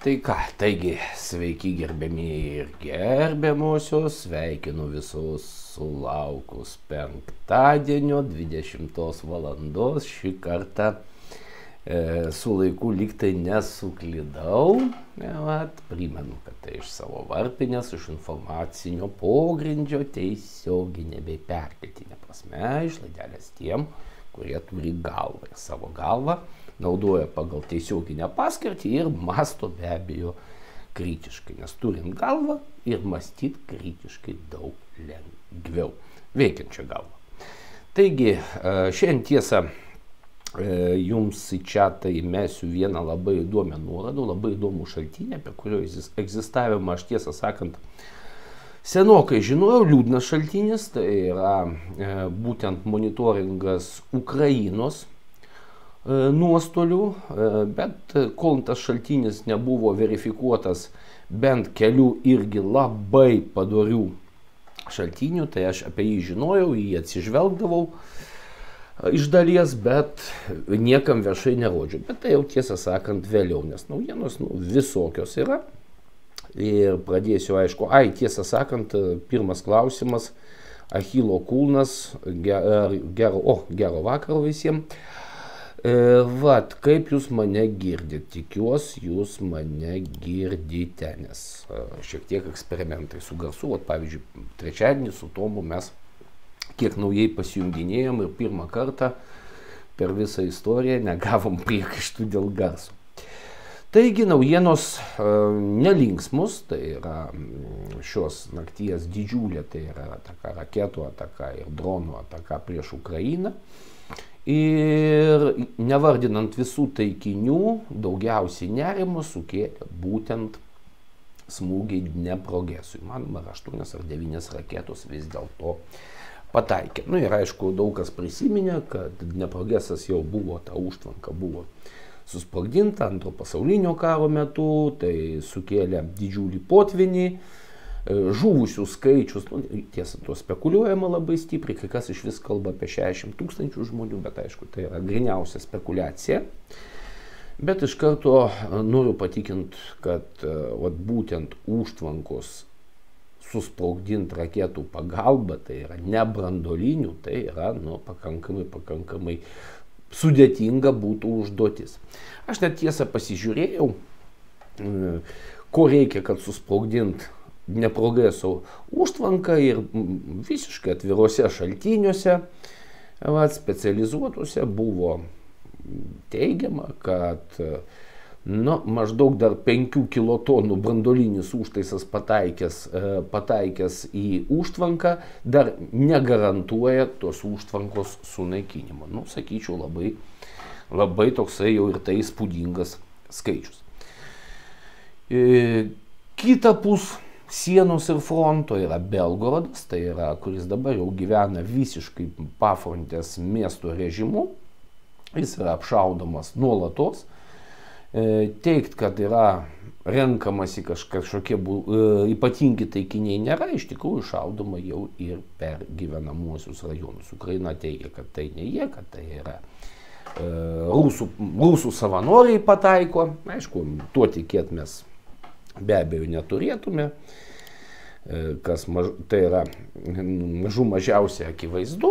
Tai ką, taigi sveiki gerbiamieji ir gerbiamosios, sveikinu visus sulaukus penktadienio 20 valandos. Šį kartą su laiku lygtai nesuklydau. Primenu, kad tai iš savo varpinės, iš informacinio pogrindžio tiesioginė bei perkeltinė prasme, iš laidelės tiem, kurie turi galvą ir savo galvą naudoja pagal tiesioginę paskirtį ir masto be abejo kritiškai, nes turint galvą ir mąstyti kritiškai daug lengviau, veikiančią galvą. Taigi, šiandien tiesa jums į čiatą įmesiu vieną labai įdomią nuorodą, labai įdomų šaltinį, apie kurio egzistavimą aš tiesą sakant senokai žinojau, liūdnas šaltinis, tai yra būtent monitoringas Ukrainos nuostolių, bet kol tas šaltinis nebuvo verifikuotas bent kelių irgi labai padorių šaltinių, tai aš apie jį žinojau, jį atsižvelgdavau iš dalies, bet niekam viešai nerodžiau. Bet tai jau tiesą sakant vėliau, nes naujienos visokios yra. Ir pradėsiu, aišku, tiesą sakant, pirmas klausimas, Achilo kulnas, gero vakaro visiems. Vat, kaip jūs mane girdite? Tikiuosi, jūs mane girdite, nes šiek tiek eksperimentai su garsu. Vat, pavyzdžiui, trečiadienį su Tomu mes kiek naujai pasijunginėjom ir pirmą kartą per visą istoriją negavom priekaištų dėl garso. Taigi naujienos nelinksmus, tai yra šios nakties didžiulė, tai yra ataka, raketų ataka ir dronų ataka prieš Ukrainą. Ir nevardinant visų taikinių, daugiausiai nerimo sukėlė būtent smūgiai Dneprogesui. Manoma, 8 ar 9 raketos vis dėlto pataikė. Nu ir aišku, daug kas prisiminė, kad Dneprogesas jau buvo, ta užtvanka buvo susprogdinta Antro pasaulinio karo metu, tai sukėlė didžiulį potvinį. Žuvusių skaičius, tiesa, tuo spekuliuojama labai stipriai, kai kas iš vis kalba apie 60 000 žmonių, bet aišku, tai yra gryniausia spekulacija. Bet iš karto noriu patikinti, kad būtent užtvankos susprogdinti raketų pagalba, tai yra ne brandolinių, tai yra pakankamai sudėtinga būtų užduotis. Aš net tiesą pasižiūrėjau, ko reikia, kad susprogdinti Dneprogeso užtvanką ir visiškai atviruose šaltiniuose, specializuotuose buvo teigiama, kad maždaug dar 5 kilotonų brandolinis užtaisas pataikęs į užtvanką dar negarantuoja tos užtvankos sunaikinimo. Sakyčiau, labai toksai jau ir tai įspūdingas skaičius. Kitapus sienos ir fronto yra Belgorodas, tai yra, kuris dabar jau gyvena visiškai pafrontės miesto režimu. Jis yra apšaudomas nuolatos. Teigt, kad yra renkamasi kažkokie ypatingi taikiniai nėra, iš tikrųjų šaudoma jau ir per gyvenamuosius rajonus. Ukraina teigia, kad tai ne jie, kad tai yra rusų savanoriai pataiko. Aišku, tuo tikėt mes be abejo neturėtume, kas tai yra mažiausiai akivaizdu.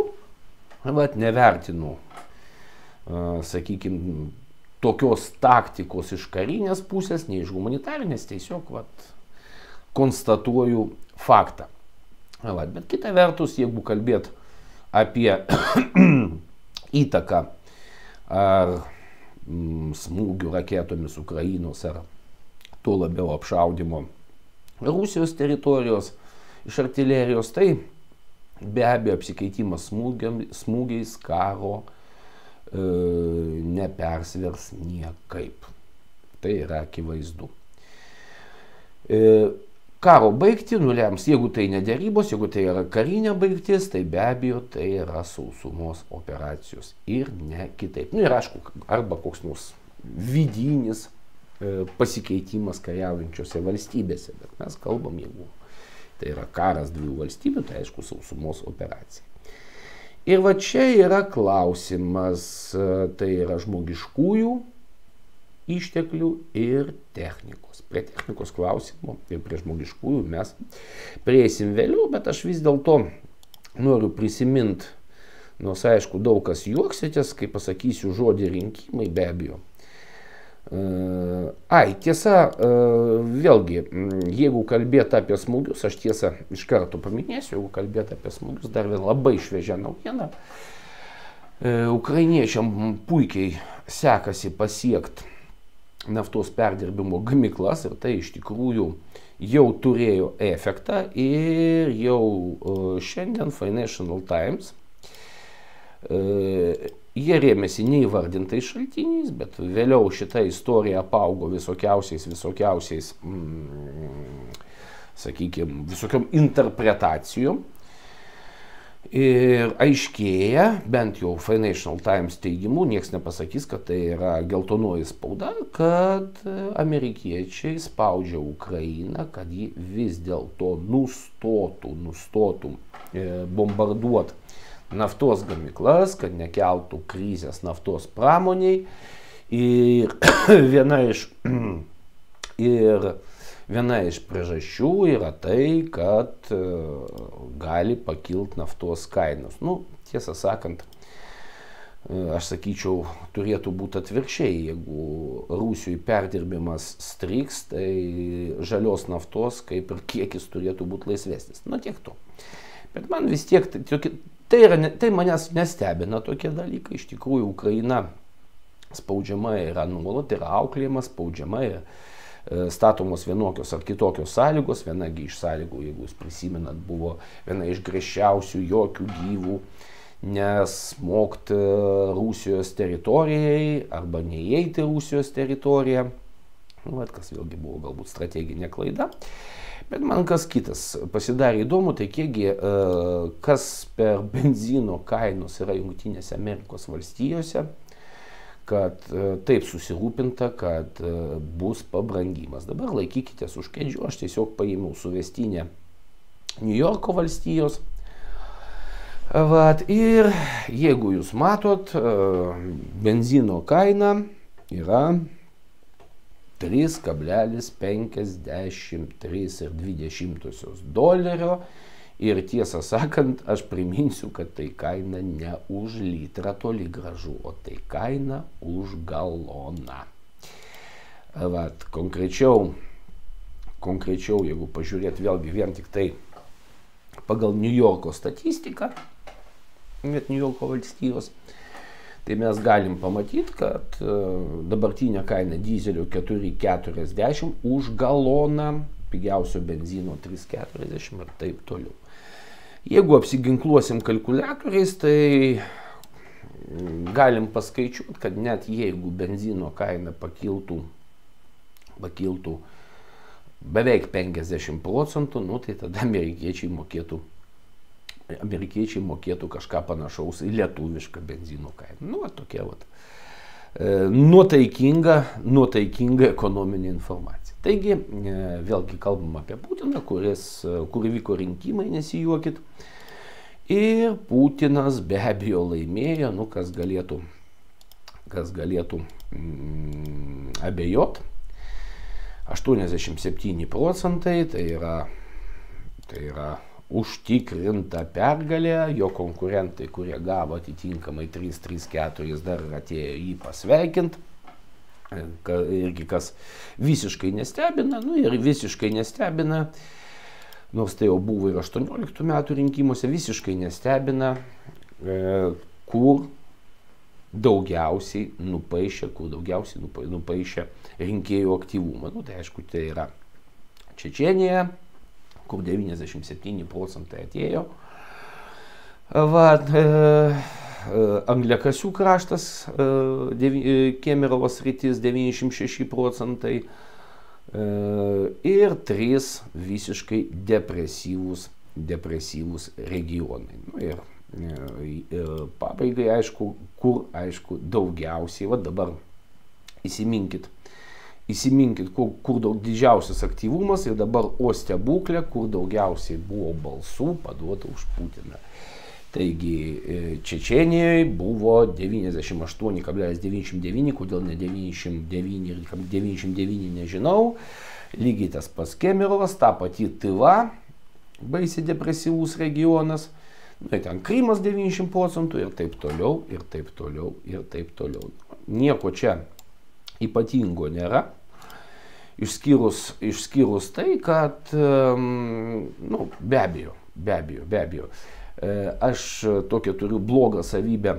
Nevertinu, sakykime, tokios taktikos iš karinės pusės, nei iš humanitarinės, tiesiog konstatuoju faktą. Bet kita vertus, jeigu kalbėt apie įtaką ar smūgių raketomis Ukrainos ar tuo labiau apšaudimo Rusijos teritorijos iš artilerijos, tai be abejo apsikeitimas smūgiais karo nepersvers niekaip. Tai yra akivaizdu. Karo baigtį nulems, jeigu tai ne derybos, jeigu tai yra karinė baigtis, tai be abejo tai yra sausumos operacijos ir ne kitaip. Ir aišku, arba koks nors vidinis pasikeitimas kariaujančiose valstybėse, bet mes kalbam, jeigu tai yra karas dviejų valstybių, tai aišku sausumos operacija. Ir va čia yra klausimas, tai yra žmogiškųjų išteklių ir technikos. Prie technikos klausimų ir prie žmogiškųjų mes prieisim vėliau, bet aš vis dėlto noriu prisiminti, nors aišku daug kas juoksitės, kai pasakysiu žodį rinkimai, be abejo. Tiesa, vėlgi, jeigu kalbėti apie smūgius, aš tiesą iš karto paminėsiu, jeigu kalbėti apie smūgius, dar vien labai šviežia naujiena. Ukrainiečiam puikiai sekasi pasiekti naftos perdirbimo gamyklas ir tai iš tikrųjų jau turėjo efektą ir jau šiandien Financial Times jie rėmėsi neįvardintais šaltiniais, bet vėliau šita istorija apaugo visokiausiais, sakykime, visokiom interpretacijom. Ir aiškėja, bent jau Financial Times teigimu, nieks nepasakys, kad tai yra geltonoji spauda, kad amerikiečiai spaudžia Ukrainą, kad ji vis dėlto nustotų bombarduoti naftos gamyklas, kad nekeltų krizės naftos pramoniai. Ir viena iš priežasčių yra tai, kad gali pakilti naftos kainos. Tiesą sakant, aš sakyčiau, turėtų būti atvirkščiai. Jeigu Rusijoje perdirbimas striks, tai žalios naftos kaip ir kiekis turėtų būti laisvesnis. Tiek to. Bet man vis tiek tai manęs nestebina tokie dalykai. Iš tikrųjų, Ukraina spaudžiama yra nuolat, yra auklėjama, spaudžiama, statomos vienokios ar kitokios sąlygos. Vienagi iš sąlygų, jeigu jūs prisimenat, buvo viena iš griežčiausių jokių gyvų nesmogti Rusijos teritorijai arba neįeiti Rusijos teritoriją. Kas vėlgi buvo galbūt strateginė klaida. Bet man kas kitas pasidarė įdomu, tai kiekgi kas per benzino kainos yra Jungtinėse Amerikos valstijose, kad taip susirūpinta, kad bus pabrangimas. Dabar laikykitės už kėdžių, aš tiesiog paėmiau suvestinę New Yorko valstijos. Ir jeigu jūs matot, benzino kaina yra 3,53 dolerio ir tiesą sakant, aš priminsiu, kad tai kaina ne už litrą toli gražu, o tai kaina už galoną. Konkrečiau, jeigu pažiūrėt vėlgi vien tik tai pagal New Yorko statistiką, net New Yorko valstijos, tai mes galim pamatyti, kad dabartinė kaina dyzelio 4,40 už galoną, pigiausio benzino 3,40 ir taip toliau. Jeigu apsiginkluosim kalkuliatoriais, tai galim paskaičiuoti, kad net jeigu benzino kaina pakiltų beveik 50%, tai tada amerikiečiai mokėtų kažką panašaus į lietuvišką benzino kainą. Tokia nuotaikinga ekonominė informacija. Taigi, vėlgi kalbam apie Putiną, kur vyko rinkimai, nesijuokit. Ir Putinas be abejo laimėjo, kas galėtų abejot. 87%, tai yra užtikrinta pergalė, jo konkurentai, kurie gavo atitinkamai 3-4, dar atėjo jį pasveikinti, irgi kas visiškai nestebina, ir visiškai nestebina, nors tai jau buvo ir 18 metų rinkimuose, visiškai nestebina, kur daugiausiai nupaišė rinkėjų aktyvumą. Tai aišku, tai yra Čečėnija, kur 97% atėjo. Angliakasių kraštas, Kemerovo sritis 96% ir 3 visiškai depresyvūs regionai. Ir pabaigai, kur daugiausiai, dabar įsiminkit, kur didžiausias aktyvumas ir dabar o stebuklė, kur daugiausiai buvo balsų paduota už Putiną. Taigi Čečėnijoje buvo 98,99, kodėl ne 99 ir 99 nežinau. Lygiai tas pats Kemirovas, ta pati Tyva, baisiai depresyvus regionas. Ten Krymas 90 procentų ir taip toliau, ir taip toliau, ir taip toliau. Nieko čia ypatingo nėra. Išskyrus tai, kad, be abejo, aš tokią turiu blogą savybę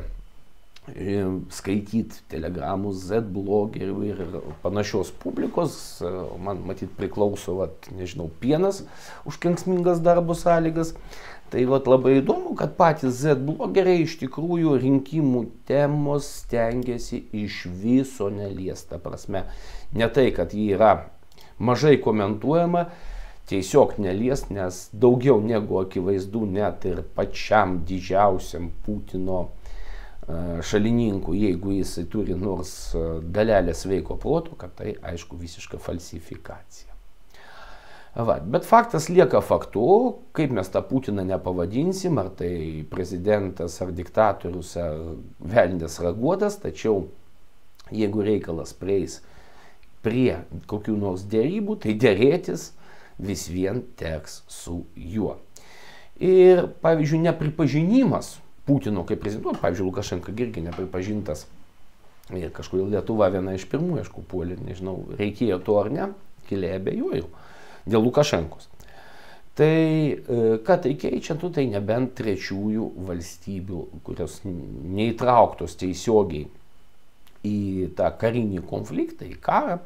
skaityti telegramus, Z-blogerių ir panašios publikos. Man matyt priklauso, nežinau, pienas už kenksmingas darbo sąlygas. Tai labai įdomu, kad patys Z-blogeriai iš tikrųjų rinkimų temos stengiasi iš viso neliesta prasme. Ne tai, kad ji yra mažai komentuojama, tiesiog neliest, nes daugiau negu akivaizdu net ir pačiam didžiausiam Putino šalininkų, jeigu jisai turi nors dalelę sveiko proto, kad tai aišku visiška falsifikacija. Bet faktas lieka faktu, kaip mes tą Putiną nepavadinsim, ar tai prezidentas, ar diktatorius, ar velnės raguotas, tačiau jeigu reikalas prieis prie kokių nors dėrybų, tai dėrėtis vis vien teks su juo. Ir, pavyzdžiui, nepripažinimas Putino kaip prezidento, pavyzdžiui, Lukašenka irgi nepripažintas, ir kažkodėl Lietuva viena iš pirmųjų, aišku, puolė, nežinau, reikėjo to ar ne, giliai abejoju, dėl Lukašenkos. Tai ką tai keičia, tai nebent trečiųjų valstybių, kurios neįtrauktos tiesiogiai į tą karinį konfliktą, į karą,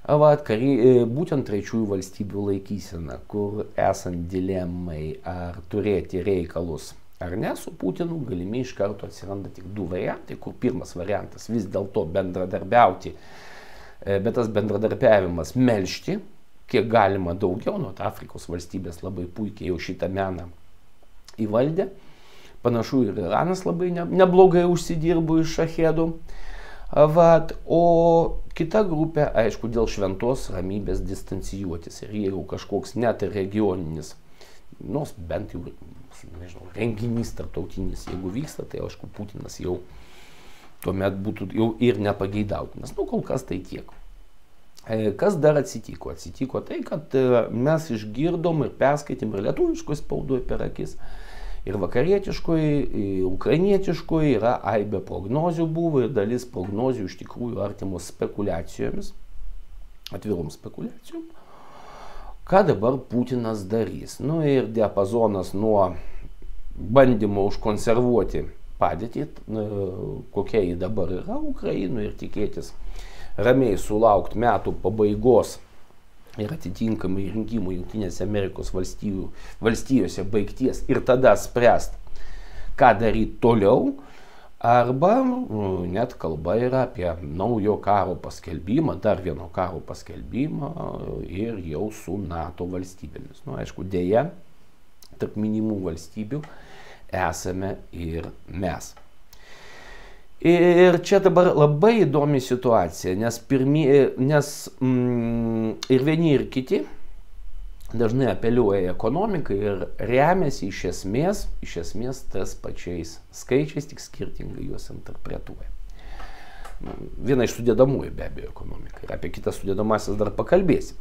būtent trečiųjų valstybių laikysena, kur esant dilemai ar turėti reikalus ar ne su Putinu, galimi iš karto atsiranda tik du variantai, kur pirmas variantas vis dėlto bendradarbiauti, bet tas bendradarbiavimas melžti, kiek galima daugiau, nuo Afrikos valstybės labai puikiai jau šitą meną įvaldė. Panašu ir Iranas labai neblogai užsidirbo iš šachedų. O kita grupė, aišku, dėl šventos ramybės distancijuotis. Ir jeigu kažkoks net ir regioninis, nors bent jau, nežinau, renginys tarptautinis, jeigu vyksta, tai aišku, Putinas jau tuomet būtų jau ir nepageidautinas. Kol kas tai tiek. Kas dar atsitiko? Atsitiko tai, kad mes išgirdom ir perskaitėm ir lietuviškoj spaudoj per akis, ir vakarietiškoj, ir ukrainietiškoj yra aibė prognozių buvo, ir dalis prognozių iš tikrųjų artimos spekulacijomis, atvirom spekulacijom, ką dabar Putinas darys. Ir diapazonas nuo bandymo užkonservuoti padėtį, kokia ji dabar yra Ukrainoje, ir tikėtis ramiai sulaukti metų pabaigos ir atitinkamai rinkimų Jungtinėse Amerikos valstijose baigties ir tada spręst, ką daryti toliau, arba net kalba yra apie naujo karo paskelbimą, dar vieno karo paskelbimą ir jau su NATO valstybėmis. Aišku, dėja, tarp minimų valstybių esame ir mes. Ir čia dabar labai įdomi situacija, nes ir vieni ir kiti dažnai apeliuoja į ekonomiką ir remiasi iš esmės tas pačiais skaičiais, tik skirtingai juos interpretuoja. Viena iš sudėdamųjų be abejo ekonomika, ir apie kitas sudėdamasis dar pakalbėsim.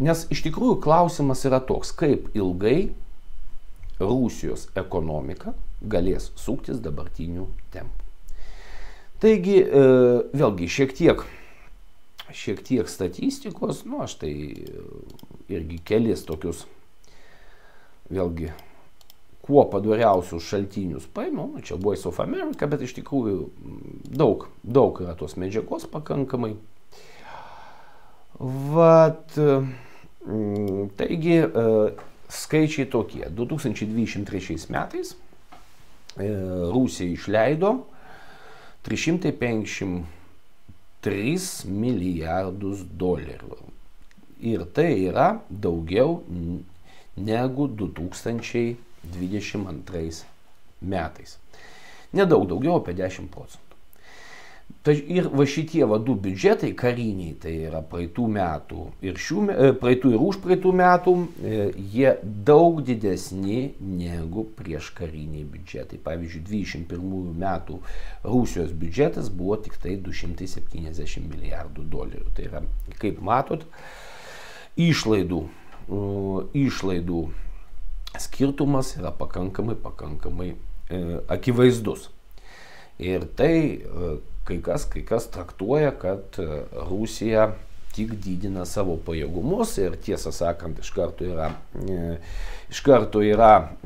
Nes iš tikrųjų klausimas yra toks, kaip ilgai Rusijos ekonomika galės suktis dabartinių tempų. Taigi, vėlgi, šiek tiek statistikos, aš tai irgi kelis tokius, vėlgi, kuo padoriausius šaltinius paėmiau, čia Voice of America, bet iš tikrųjų daug yra tos medžiagos pakankamai. Taigi, skaičiai tokie. 2023 metais Rusija išleido 353 milijardus dolerių. Ir tai yra daugiau negu 2022 metais. Nedaug daugiau, apie 10 procentų. Ir va šitie du biudžetai kariniai, tai yra praeitų metų ir praeitų ir užpraeitų metų, jie daug didesni negu prieš kariniai biudžetai. Pavyzdžiui, 21 metų Rusijos biudžetas buvo tik tai 270 milijardų dolerių. Tai yra, kaip matot, išlaidų skirtumas yra pakankamai akivaizdus. Ir tai kai kas traktuoja, kad Rusija tik didina savo pajėgumus ir tiesą sakant, iš karto yra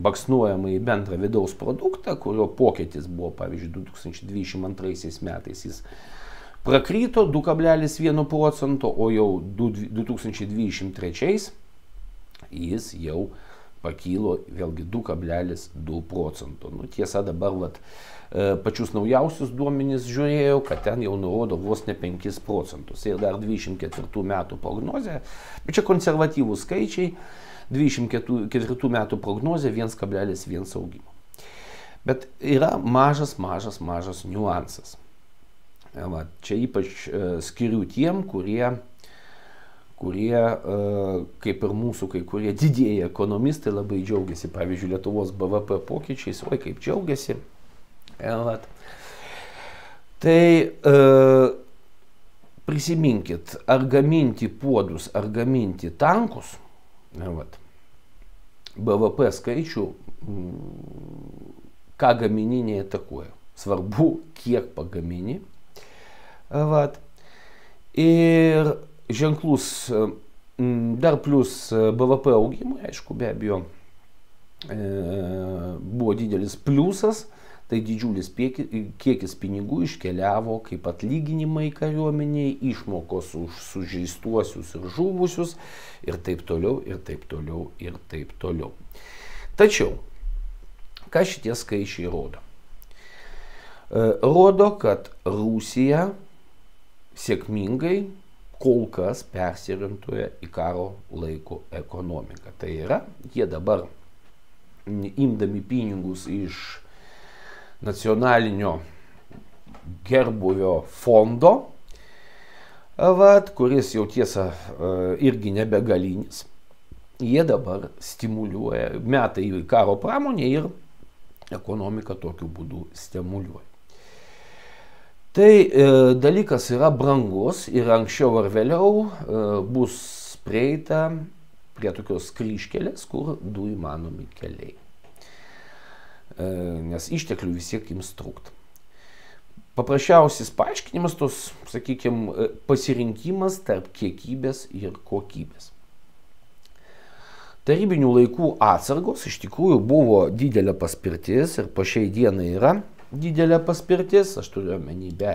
baksnuojama į bendrą vidaus produktą, kurio pokytis buvo, pavyzdžiui, 2022 metais jis prakrito 2,1 procento, o jau 2023 jis jau pakilo vėlgi 2,2 procento. Nu, tiesa, dabar pačius naujausius duomenys žiūrėjau, kad ten jau nurodo vos ne 5 procentus. Ir dar 24 metų prognozė, bet čia konservatyvūs skaičiai, 24 metų prognozė 1,1 augimo. Bet yra mažas niuansas. Čia ypač skiriu tiem, kurie kaip ir mūsų kai kurie didieji ekonomistai labai džiaugiasi, pavyzdžiui, Lietuvos BVP pokyčiais, oi kaip džiaugiasi. Tai prisiminkit, ar gaminti puodus, ar gaminti tankus, BVP skaičių, ką gamini neįtakoja. Svarbu, kiek pagamini. Ir ženklus dar plus BVP augimui, aišku, be abejo, buvo didelis pliusas, tai didžiulis kiekis pinigų iškeliavo kaip atlyginimai kariuomeniai, išmokos už sužeistuosius ir žuvusius ir taip toliau, ir taip toliau, ir taip toliau. Tačiau, ką šitie skaičiai rodo? Rodo, kad Rusija sėkmingai kol kas persiorientuoja į karo laiko ekonomiką. Tai yra, jie dabar imdami pinigus iš nacionalinio gerbūvio fondo, kuris jau tiesa irgi nebegalinis, jie dabar stimuliuoja, meta į karo pramonę ir ekonomiką tokiu būdu stimuliuoja. Tai dalykas yra brangus ir anksčiau ar vėliau bus prieita prie tokios kryžkelės, kur du įmanomi keliai. Nes išteklių vis tiek ims trūkt. Paprasčiausias paaiškinimas tos, sakykime, pasirinkimas tarp kiekybės ir kokybės. Tarybinių laikų atsargos iš tikrųjų buvo didelė paspirtis ir po šiai dienai yra didelė paspirtis. Aš turiu omeny be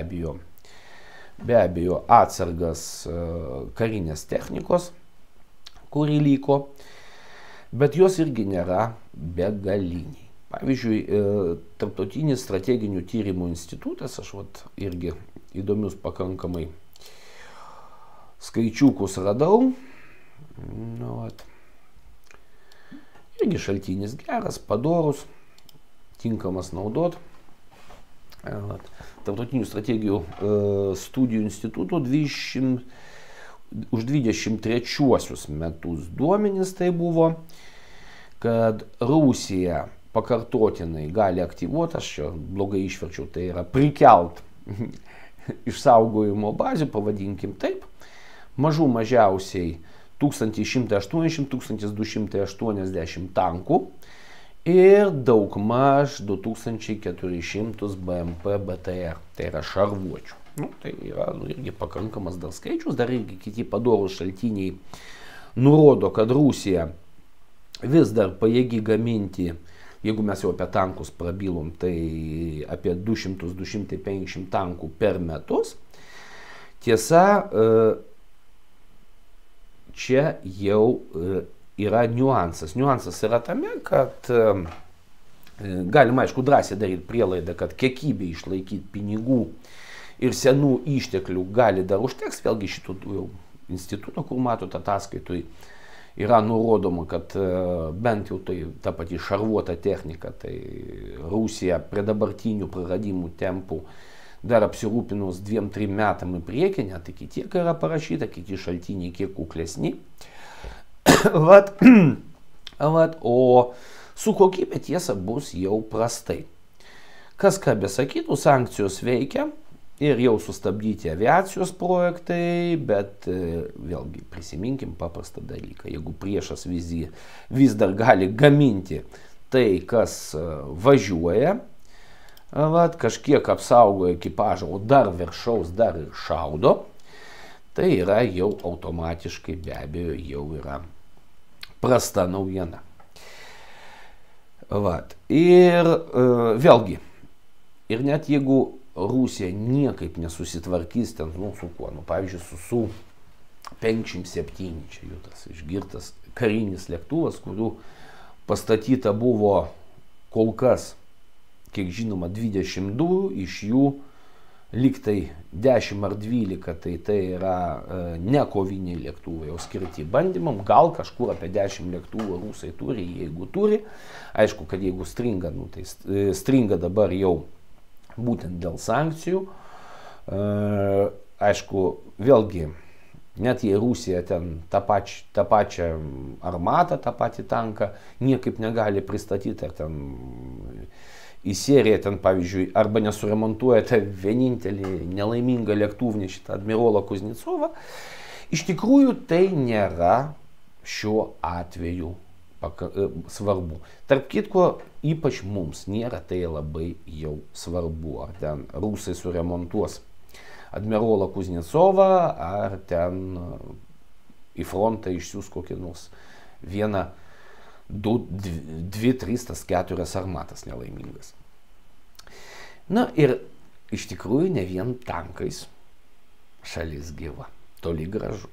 abejo atsargas karinės technikos, kuri liko, bet jos irgi nėra begaliniai. Pavyzdžiui, Tarptautinis strateginių tyrimų institutas, aš irgi įdomius pakankamai skaičiukus radau. Irgi šaltinis geras, padorus, tinkamas naudot. Tarptautinių strategijų studijų instituto už 23 metus duomenys tai buvo, kad Rusija pakartotinai gali aktyvuoti, aš čia blogai išverčiau, tai yra prikelt išsaugojimo bazių, pavadinkim taip, mažiausiai 1180–1280 tankų ir daugmaž 2400 BMP BTR, tai yra šarvuočių. Tai yra irgi pakankamas dar skaičius, dar irgi kiti padorūs šaltiniai nurodo, kad Rusija vis dar pajėgi gaminti, jeigu mes jau apie tankus prabilom, tai apie 200–250 tankų per metus. Tiesa, čia jau yra niuansas. Niuansas yra tame, kad galima, aišku, drąsiai daryti prielaidą, kad kiekybė išlaikyti pinigų ir senų išteklių gali dar užteks. Vėlgi šitų jau instituto, kur matot ataskaitui, yra nurodoma, kad bent jau tai ta pati šarvuota technika, tai Rusija prie dabartinių praradimų tempų dar apsirūpinus 2-3 metam į priekį, net iki tiek yra parašyta, kiti šaltiniai kiek kuklesni. Vat, o su kokybė tiesa bus jau prastai. Kas ką besakytų, sankcijos veikia ir jau sustabdyti aviacijos projektai, bet vėlgi prisiminkim paprastą dalyką. Jeigu priešas vis dar gali gaminti tai, kas važiuoja, vat, kažkiek apsaugo ekipažą, o dar viršaus dar ir šaudo, tai yra jau automatiškai be abejo jau yra prasta naujiena. Vat. Ir vėlgi, ir net jeigu Rusija niekaip nesusitvarkys ten, su kuo, pavyzdžiui, su 57, čia jų tas išgirtas karinis lėktuvas, kurių pastatyta buvo kol kas, kiek žinoma, 22, iš jų liktai 10 ar 12, tai yra ne koviniai lėktuvai, o skirti bandymam. Gal kažkur apie 10 lėktuvų rusai turi, jeigu turi. Aišku, kad jeigu stringa, tai stringa dabar jau būtent dėl sankcijų. Aišku, vėlgi, net jei Rusija ten tą pačią armatą, tą patį tanką niekaip negali pristatyti, ar ten į seriją ten, pavyzdžiui, arba nesuremontuoja tą vienintelį nelaimingą lėktuvnešį, tą admirolą Kuznecovą, iš tikrųjų tai nėra šiuo atveju svarbu. Tarp kitko, ypač mums nėra tai labai jau svarbu, ar ten rusai suremontuos admirolą Kuznecovą, ar ten į frontą išsiųs kokį nors 1, 2, 3, 4 armatas nelaimingas. Na ir iš tikrųjų ne vien tankais šalis gyva, toli gražu.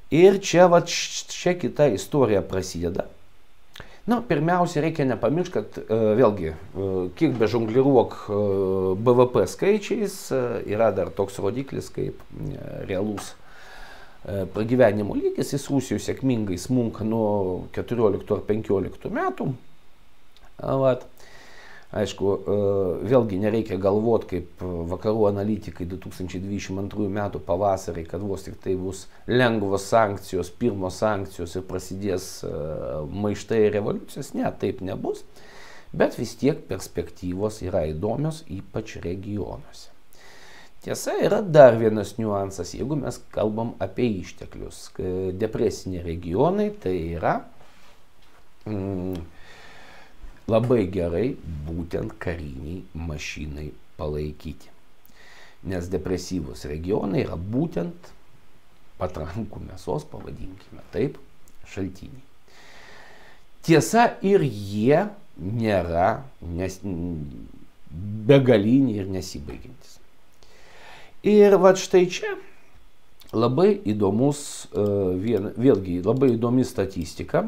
Ir čia kita istorija prasideda. Na, pirmiausia, reikia nepamiršti, kad vėlgi, kiek be žongliruok BVP skaičiais, yra dar toks rodiklis kaip realus pragyvenimo lygis. Jis Rusijoje sėkmingai smunka nuo 14 ar 15 metų. Vat. Aišku, vėlgi nereikia galvoti, kaip vakarų analitikai 2022 metų pavasarį, kad vos tik tai bus lengvos sankcijos, pirmos sankcijos ir prasidės maištai ir revoliucijos. Ne, taip nebus, bet vis tiek perspektyvos yra įdomios, ypač regionuose. Tiesa, yra dar vienas niuansas, jeigu mes kalbam apie išteklius. Depresiniai regionai tai yra labai gerai būtent kariniai mašinai palaikyti. Nes depresyvus regionai yra būtent patrankų mėsos, pavadinkime taip, šaltiniai. Tiesa, ir jie nėra begaliniai ir nesibaigiantis. Ir va štai čia labai įdomus, vėlgi labai įdomi statistika.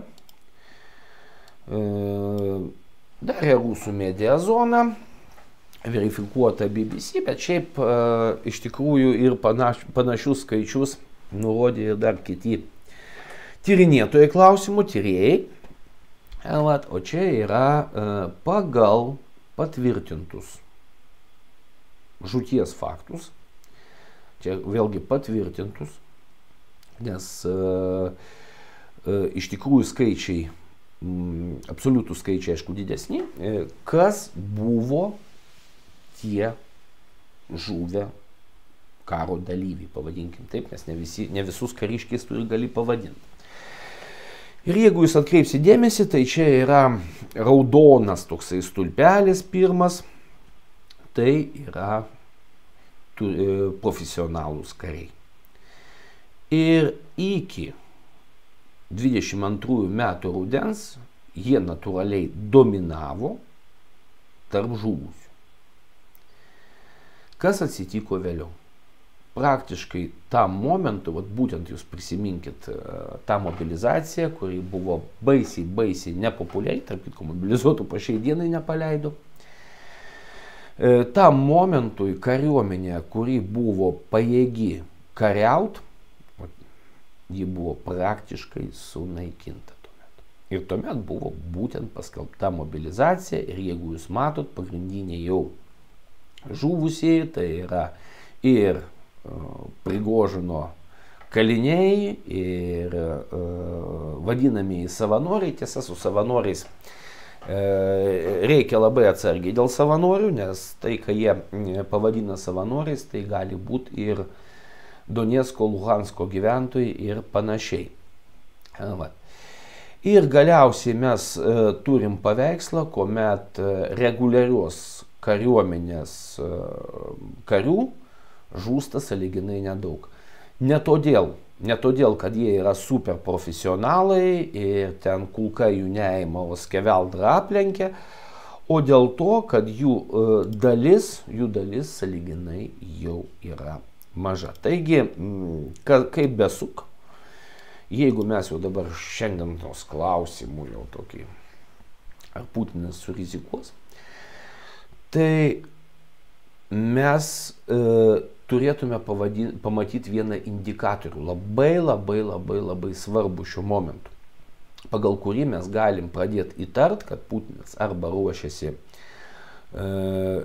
Darė rusų media zona, verifikuota BBC, bet šiaip iš tikrųjų ir panašius skaičius nurodė ir dar kiti tyrinėtojai klausimų, tyrėjai. O čia yra pagal patvirtintus žūties faktus. Čia vėlgi patvirtintus, nes iš tikrųjų skaičiai, absoliutų skaičiai, aišku, didesni, kas buvo tie žuvę karo dalyviai, pavadinkim taip, nes ne visus kariškiais turi gali pavadinti. Ir jeigu jūs atkreipsite dėmesį, tai čia yra raudonas toksai stulpelis pirmas, tai yra profesionalūs kariai. Ir iki 22 metų rudens jie natūraliai dominavo tarp žuvusių. Kas atsitiko vėliau? Praktiškai tam momentu, būtent jūs prisiminkit tą mobilizaciją, kuri buvo baisiai nepopuliari, tarp kitko mobilizuotų po šiai dienai nepaleido. Tam momentui kariuomenė, kuri buvo pajėgi kariaut, ji buvo praktiškai sunaikinta tuomet. Ir tuomet buvo būtent paskelbta mobilizacija ir jeigu jūs matot, pagrindiniai jau žuvusieji, tai yra ir Prigožino kaliniai, ir vadinamieji savanoriai. Tiesa, su savanoriais reikia labai atsargiai dėl savanorių, nes tai, ką jie pavadina savanoriais, tai gali būti ir Donecko, Luhansko gyventojai ir panašiai. Va. Ir galiausiai mes turim paveikslą, kuomet reguliarios kariuomenės karių žūsta sąlyginai nedaug. Ne todėl, kad jie yra super profesionalai ir ten kulka jų neima, o skeveldra aplenkia, o dėl to, kad jų dalis sąlyginai jau yra maža. Taigi, kaip besuk, jeigu mes jau dabar šiandien tos klausimų jau tokį, ar Putinas surizikuos, tai mes turėtume pamatyti vieną indikatorių, labai svarbu šiuo momentu, pagal kurį mes galim pradėti įtart, kad Putinas arba ruošiasi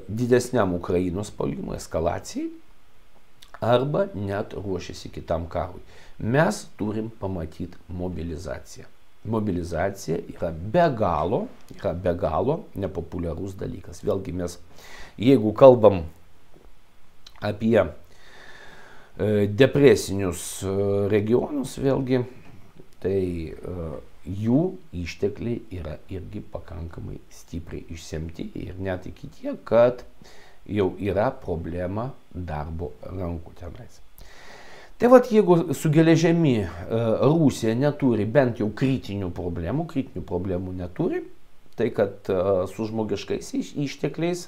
didesniam Ukrainos puolimui, eskalacijai, arba net ruošiasi kitam karui. Mes turim pamatyti mobilizaciją. Mobilizacija yra be galo nepopuliarus dalykas. Vėlgi mes, jeigu kalbam apie depresinius regionus, vėlgi, tai jų ištekliai yra irgi pakankamai stipriai išsemti ir net iki tiek, kad jau yra problema darbo rankų tenais. Tai vat, jeigu su geležimi Rusija neturi bent jau kritinių problemų neturi, tai kad su žmogiškais ištekliais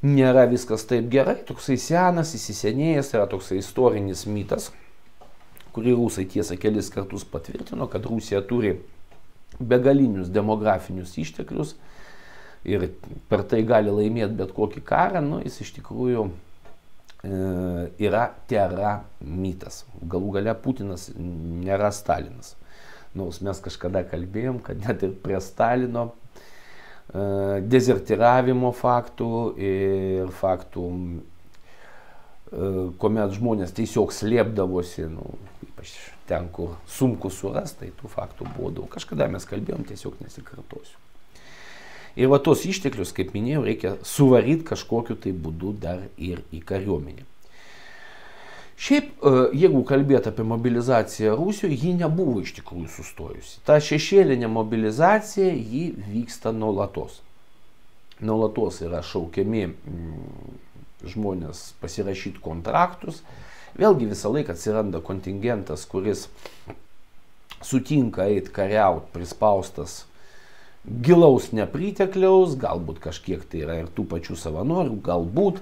nėra viskas taip gerai, toksai senas, įsisenėjęs, yra toksai istorinis mitas, kurį rusai tiesa kelis kartus patvirtino, kad Rusija turi begalinius demografinius išteklius ir per tai gali laimėti bet kokį karą, jis iš tikrųjų yra tėra mitas. Galų gale Putinas nėra Stalinas. Nors mes kažkada kalbėjom, kad net ir prie Stalino dezertiravimo faktų ir faktų, kuomet žmonės tiesiog slėpdavosi, ypač ten, kur sunku surasti, tai tų faktų buvo daug. Kažkada mes kalbėjom, tiesiog nesikartosiu. Ir va tos išteklius, kaip minėjau, reikia suvaryti kažkokiu tai būdu dar ir į kariuomenę. Šiaip, jeigu kalbėt apie mobilizaciją Rusijoje, ji nebuvo iš tikrųjų sustojusi. Ta šešėlinė mobilizacija, ji vyksta nuolatos. Nuolatos yra šaukiami žmonės pasirašyti kontraktus. Vėlgi visą laiką atsiranda kontingentas, kuris sutinka eiti kariauti prispaustas gilaus nepritekliaus, galbūt kažkiek tai yra ir tų pačių savanorių, galbūt.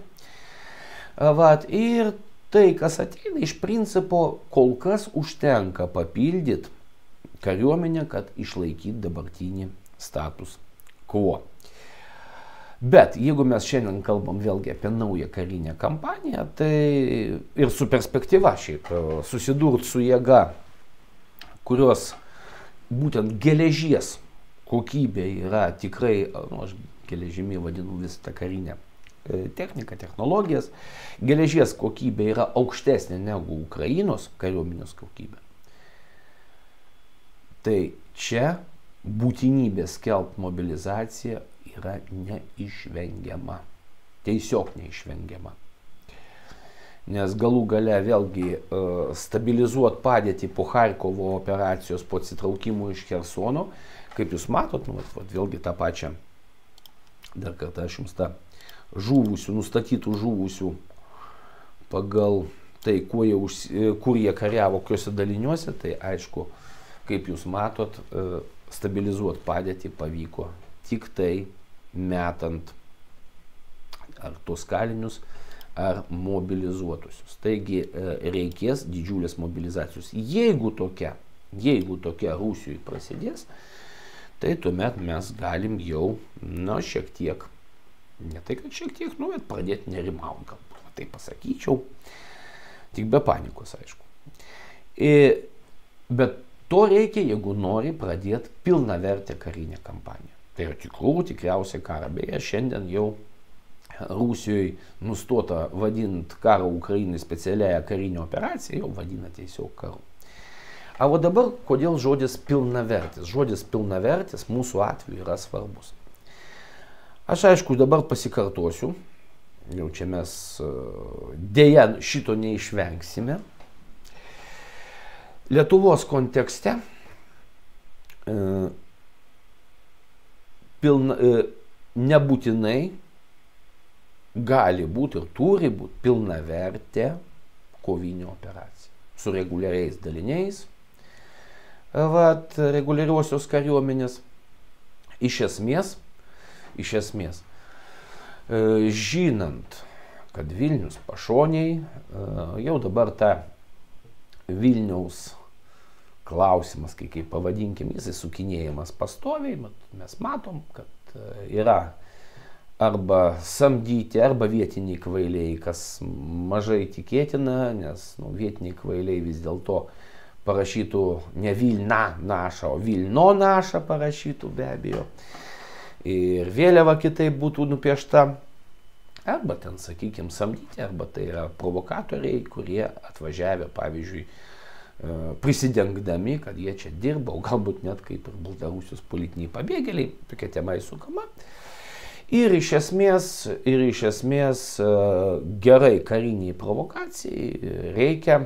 Ir tai, kas ateina, iš principo kol kas užtenka papildyti kariuomenę, kad išlaikyti dabartinį status quo. Bet jeigu mes šiandien kalbam vėlgi apie naują karinę kampaniją, tai ir su perspektyva šiaip susidurti su jėga, kurios būtent geležies kokybė yra tikrai, aš geležimi vadinu visą tą karinę techniką, technologijas, geležies kokybė yra aukštesnė negu Ukrainos kariuomenės kokybė. Tai čia būtinybė skelbti mobilizaciją yra neišvengiama. Tiesiog neišvengiama. Nes galų gale vėlgi stabilizuoti padėtį po Charkovo operacijos, po atsitraukimo iš Chersono, kaip jūs matot, vėlgi tą pačią, dar kartą aš jums tą žuvusių, nustatytų žuvusių pagal tai, kur jie kariavo, kokiuose daliniuose, tai aišku, kaip jūs matot, stabilizuoti padėtį pavyko tik tai metant ar tos kalinius, ar mobilizuotusius. Taigi reikės didžiulės mobilizacijos. Jeigu tokia Rusijoje prasidės, tai tuomet mes galim jau, šiek tiek, ne tai kad šiek tiek, bet pradėti nerimauti, galbūt, tai pasakyčiau, tik be panikos, aišku. Bet to reikia, jeigu nori pradėti pilnavertę karinę kampaniją. Tai yra tikriausiai karą, beje, šiandien jau Rusijoje nustota vadinti karą Ukrainai specialiąją karinę operaciją, jau vadina tiesiog karu. O dabar, kodėl žodis pilnavertis? Žodis pilnavertis mūsų atveju yra svarbus. Aš aišku dabar pasikartosiu, jau čia mes dėja šito neišvengsime. Lietuvos kontekste nebūtinai gali būti ir turi būti pilnavertė kovinė operacija su reguliariais daliniais, reguliariosios kariuomenės. Iš esmės, žinant, kad Vilnius pašoniai, jau dabar ta Vilniaus klausimas, kaip pavadinkim, jis sukinėjimas pastoviai, mes matom, kad yra arba samdyti, arba vietiniai kvailiai, kas mažai tikėtina, nes vietiniai kvailiai vis dėlto parašytų ne Vilna naša, o Vilno naša parašytų be abejo. Ir vėliava kitaip būtų nupiešta. Arba ten, sakykime, samdyti, arba tai yra provokatoriai, kurie atvažiavę, pavyzdžiui, prisidengdami, kad jie čia dirba, o galbūt net kaip ir Baltarusijos politiniai pabėgėliai, tokia tema įsukama. Ir iš esmės gerai kariniai provokacijai reikia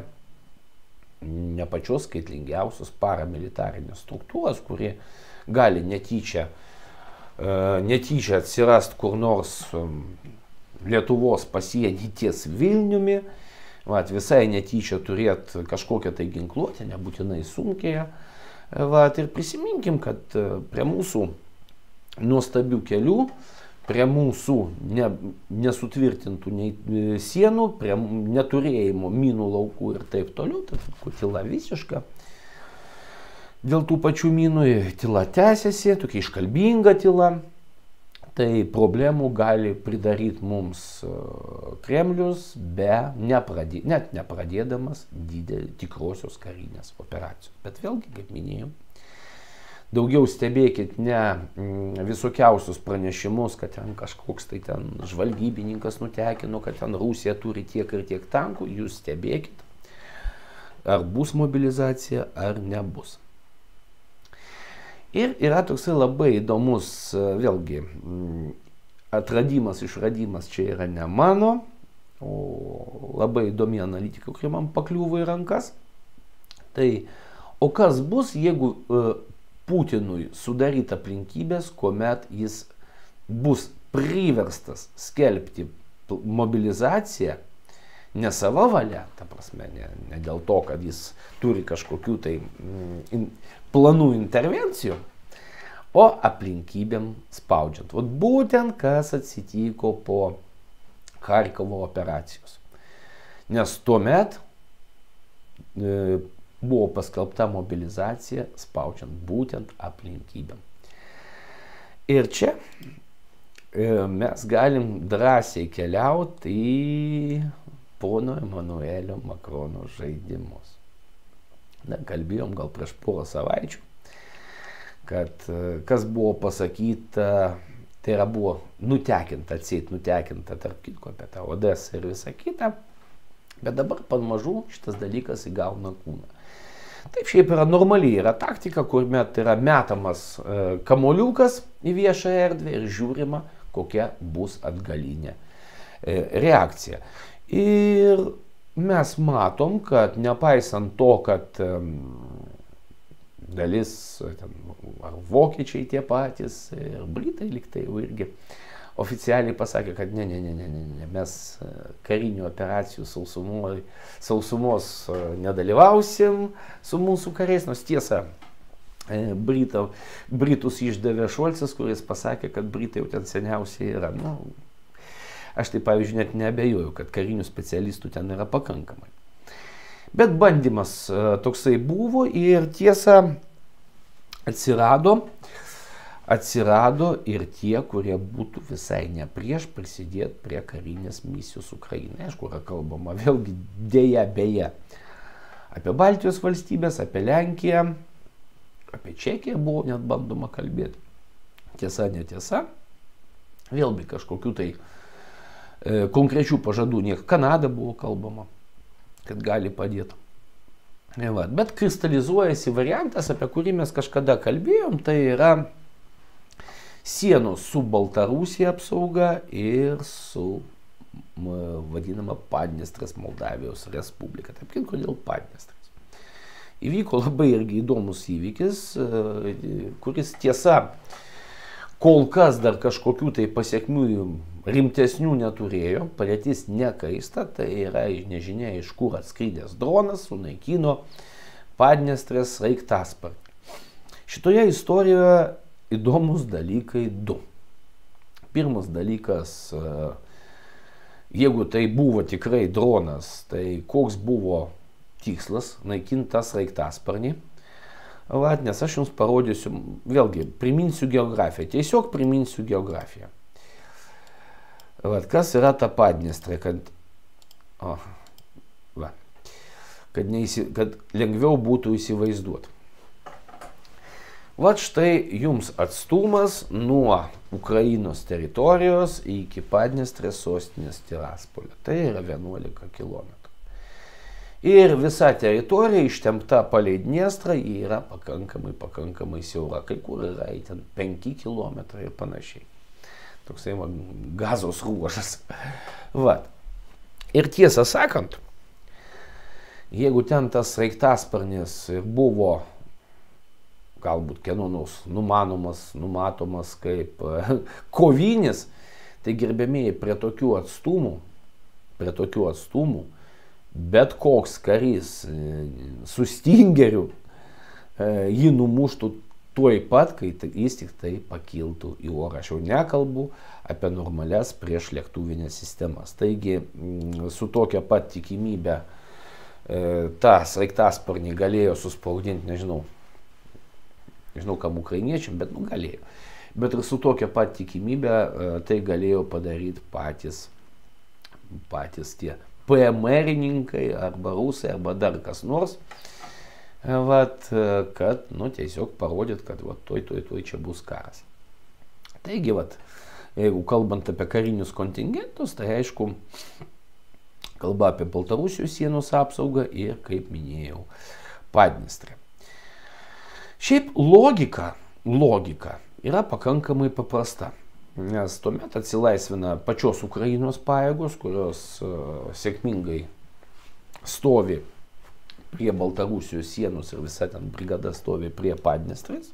ne pačios skaitlingiausios paramilitarinės struktūros, kurie gali netyčia atsirast kur nors Lietuvos pasienį ties Vilniumi, visai netyčia turėti kažkokią tai ginkluotę, nebūtinai sunkiąją. Ir prisiminkim, kad prie mūsų nuostabių kelių, prie mūsų nesutvirtintų sienų, prie neturėjimo minų laukų ir taip toliau, tai tyla visiška. Dėl tų pačių minų tyla tęsiasi, tokia iškalbinga tyla. Tai problemų gali pridaryti mums Kremlius, net nepradėdamas tikrosios karinės operacijos. Bet vėlgi, kaip minėjau, daugiau stebėkit ne visokiausius pranešimus, kad ten kažkoks tai ten žvalgybininkas nutekino, kad ten Rusija turi tiek ir tiek tankų. Jūs stebėkit, ar bus mobilizacija, ar nebus. Ir yra toksai labai įdomus, vėlgi, išradimas čia yra ne mano, o labai įdomi analitika, kuri man pakliuvo į rankas. Tai, o kas bus, jeigu Putinui sudaryti aplinkybės, kuomet jis bus priverstas skelbti mobilizaciją ne savo valia, ta prasme, ne dėl to, kad jis turi kažkokių tai planų intervencijų, o aplinkybėm spaudžiant. Būtent kas atsitiko po Charkovo operacijos. Nes tuomet buvo paskelbta mobilizacija spaudžiant būtent aplinkybėm. Ir čia mes galim drąsiai keliauti į pono Emanuelio Makrono žaidimus. Kalbėjom gal prieš porą savaičių, kad kas buvo pasakyta, tai yra buvo nutekinta tarp kitko apie tą Odesą ir visą kitą, bet dabar pamažu šitas dalykas įgauna kūną. Taip šiaip yra normaliai, yra taktika, kuomet yra metamas kamoliukas į viešą erdvę ir žiūrima, kokia bus atgalinė reakcija. Ir mes matom, kad nepaisant to, kad dalis, ar vokiečiai tie patys, ir britai liktai jau irgi oficialiai pasakė, kad ne, mes karinių operacijų sausumos nedalyvausim su mūsų kariais, nors tiesa, Britus išdavė Šolcas, kuris pasakė, kad Britai jau ten seniausiai yra. Aš tai, pavyzdžiui, net neabejoju, kad karinių specialistų ten yra pakankamai. Bet bandymas toksai buvo ir tiesa atsirado ir tie, kurie būtų visai ne prieš prisidėti prie karinės misijos Ukrainai. Aišku, yra kalbama vėlgi dėja beje apie Baltijos valstybės, apie Lenkiją, apie Čekiją buvo net bandoma kalbėti. Tiesa, netiesa. Vėlgi kažkokių tai Konkrečių pažadų nieko. Kanada buvo kalbama, kad gali padėti. Bet kristalizuojasi variantas, apie kurį mes kažkada kalbėjom, tai yra sienos su Baltarusija apsauga ir su vadinama Padniestrės Moldavijos Respublika. Taip, kodėl Padniestrės? Įvyko labai irgi įdomus įvykis, kuris tiesa kol kas dar kažkokių tai pasiekmių rimtesnių neturėjo, padėtis nekaista, tai yra nežinia iš kur atskridęs dronas sunaikino Padniestrės sraigtasparnį. Šitoje istorijoje įdomus dalykai du. Pirmas dalykas, jeigu tai buvo tikrai dronas, tai koks buvo tikslas naikinti tą sraigtasparnį. Nes aš jums parodysiu, vėlgi, priminsiu geografiją, tiesiog priminsiu geografiją. Kas yra ta Padniestrė, kad lengviau būtų įsivaizduoti. Štai jums atstumas nuo Ukrainos teritorijos iki Padniestrės sostinės Tiraspolio. Tai yra 11 km. Ir visa teritorija ištempta palei Dniestrą yra pakankamai siaura. Kai kur yra ten 5 km ir panašiai. Toksai gazos ruožas. Ir tiesą sakant, jeigu ten tas sraigtasparnis buvo galbūt kieno nors numatomas kaip kovinis, tai gerbėmėjai prie tokių atstumų, bet koks karys su stingeriu jį numuštų tuoj pat, kai jis tik tai pakiltų į orą. Aš jau nekalbu apie normalias priešlėktuvinės sistemas. Taigi su tokia pat tikimybė tą sraigtasparnį galėjo suspaudinti, nežinau kam ukrainiečiam, bet galėjo. Bet ir su tokia pat tikimybė tai galėjo padaryti patys tie PMR-ininkai arba rusai arba dar kas nors, kad tiesiog parodyt, kad tuoj čia bus karas. Taigi, jeigu kalbant apie karinius kontingentus, tai aišku, kalba apie Baltarusijos sienos apsaugą ir, kaip minėjau, Padniestrę. Šiaip logika yra pakankamai paprasta. Nes tuomet atsilaisvina pačios Ukrainos pajėgos, kurios sėkmingai stovi prie Baltarusijos sienos ir visa ten brigada stovi prie Padniestrės.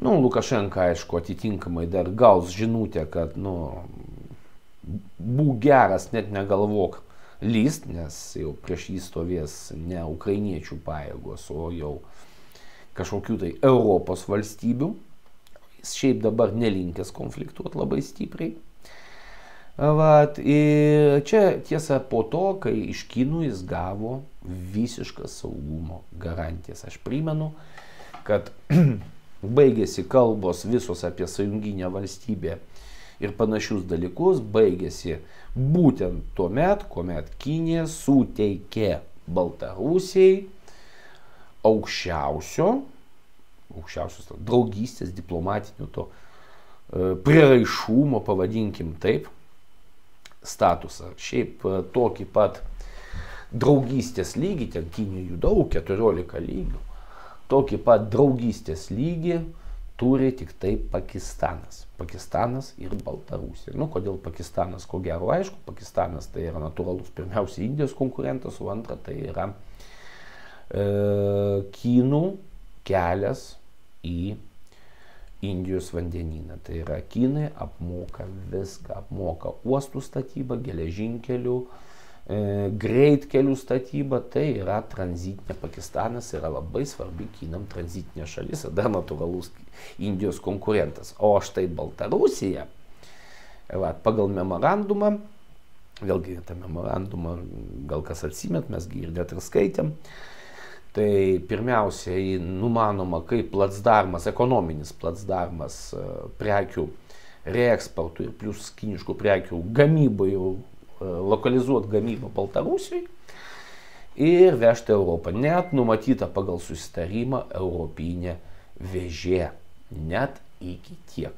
Lukašenka, aišku, atitinkamai dar gaus žinutę, kad būk geras, net negalvok lyst, nes jau prieš jį stovės ne ukrainiečių pajėgos, o jau kažkokių tai Europos valstybių. Šiaip dabar nelinkęs konfliktuoti labai stipriai. Ir čia tiesa po to, kai iš Kinų jis gavo visiškas saugumo garantijas. Aš primenu, kad baigėsi kalbos visos apie sąjunginę valstybę ir panašius dalykus, baigėsi būtent tuomet, kuomet Kinija suteikė Baltarusijai aukščiausios draugystės, diplomatinių to prieraišumo, pavadinkim taip, statusą. Šiaip tokį pat draugystės lygį, ten Kinijų daug, 14 lygių, tokį pat draugystės lygį turi tik tai Pakistanas ir Baltarusija. Kodėl Pakistanas, ko gero aišku, Pakistanas tai yra natūralus pirmiausia Indijos konkurentas, o antra tai yra Kinų kelias į Indijos vandenyną. Tai yra Kinai apmoka viską, apmoka uostų statybą, geležinkelių, greitkelių statybą, tai yra tranzitinė. Pakistanas yra labai svarbi Kinam tranzitinė šalis ir dar natūralus Indijos konkurentas. O štai Baltarusija, pagal memorandumą, vėlgi tą memorandumą gal kas atsimет, mes ir net ir skaitėm, tai pirmiausiai numanoma kaip placdarmas, ekonominis placdarmas prekių reeksportui ir plus kiniškų prekių gamybai, lokalizuoti gamybą Baltarusijai ir vežti Europą. Net numatyta pagal susitarimą europinė vežė. Net iki tiek.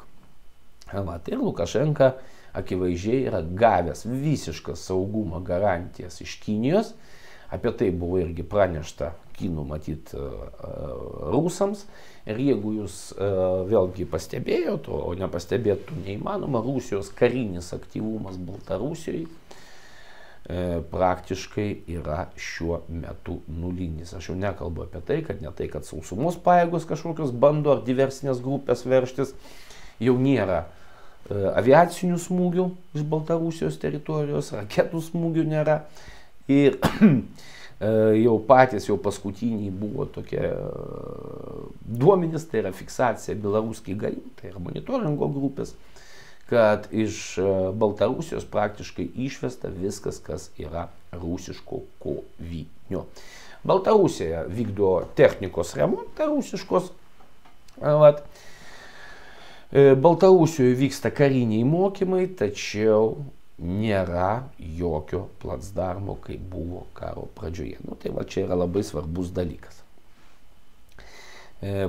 Vat, ir Lukašenka akivaizdžiai yra gavęs visišką saugumo garantijas iš Kinijos. Apie tai buvo irgi pranešta kinų matyt rusams. Ir jeigu jūs vėlgi pastebėjot, o nepastebėtų neįmanoma, Rusijos karinis aktyvumas Baltarusijoje praktiškai yra šiuo metu nulinis. Aš jau nekalbu apie tai, kad sausumos pajėgos kažkokios bando ar diversinės grupės verštis, jau nėra aviacinių smūgių iš Baltarusijos teritorijos, raketų smūgių nėra. Ir jau patys, jau paskutiniai buvo tokie duomenys, tai yra fiksacija Belaruskiai GAI, tai yra monitoringo grupės, kad iš Baltarusijos praktiškai išvesta viskas, kas yra rusiško kovinio. Baltarusija vykdo technikos remontą rusiškos. Vat. Baltarusijoje vyksta kariniai mokymai, tačiau nėra jokio placdarmo, kaip buvo karo pradžioje. Nu, tai va čia yra labai svarbus dalykas.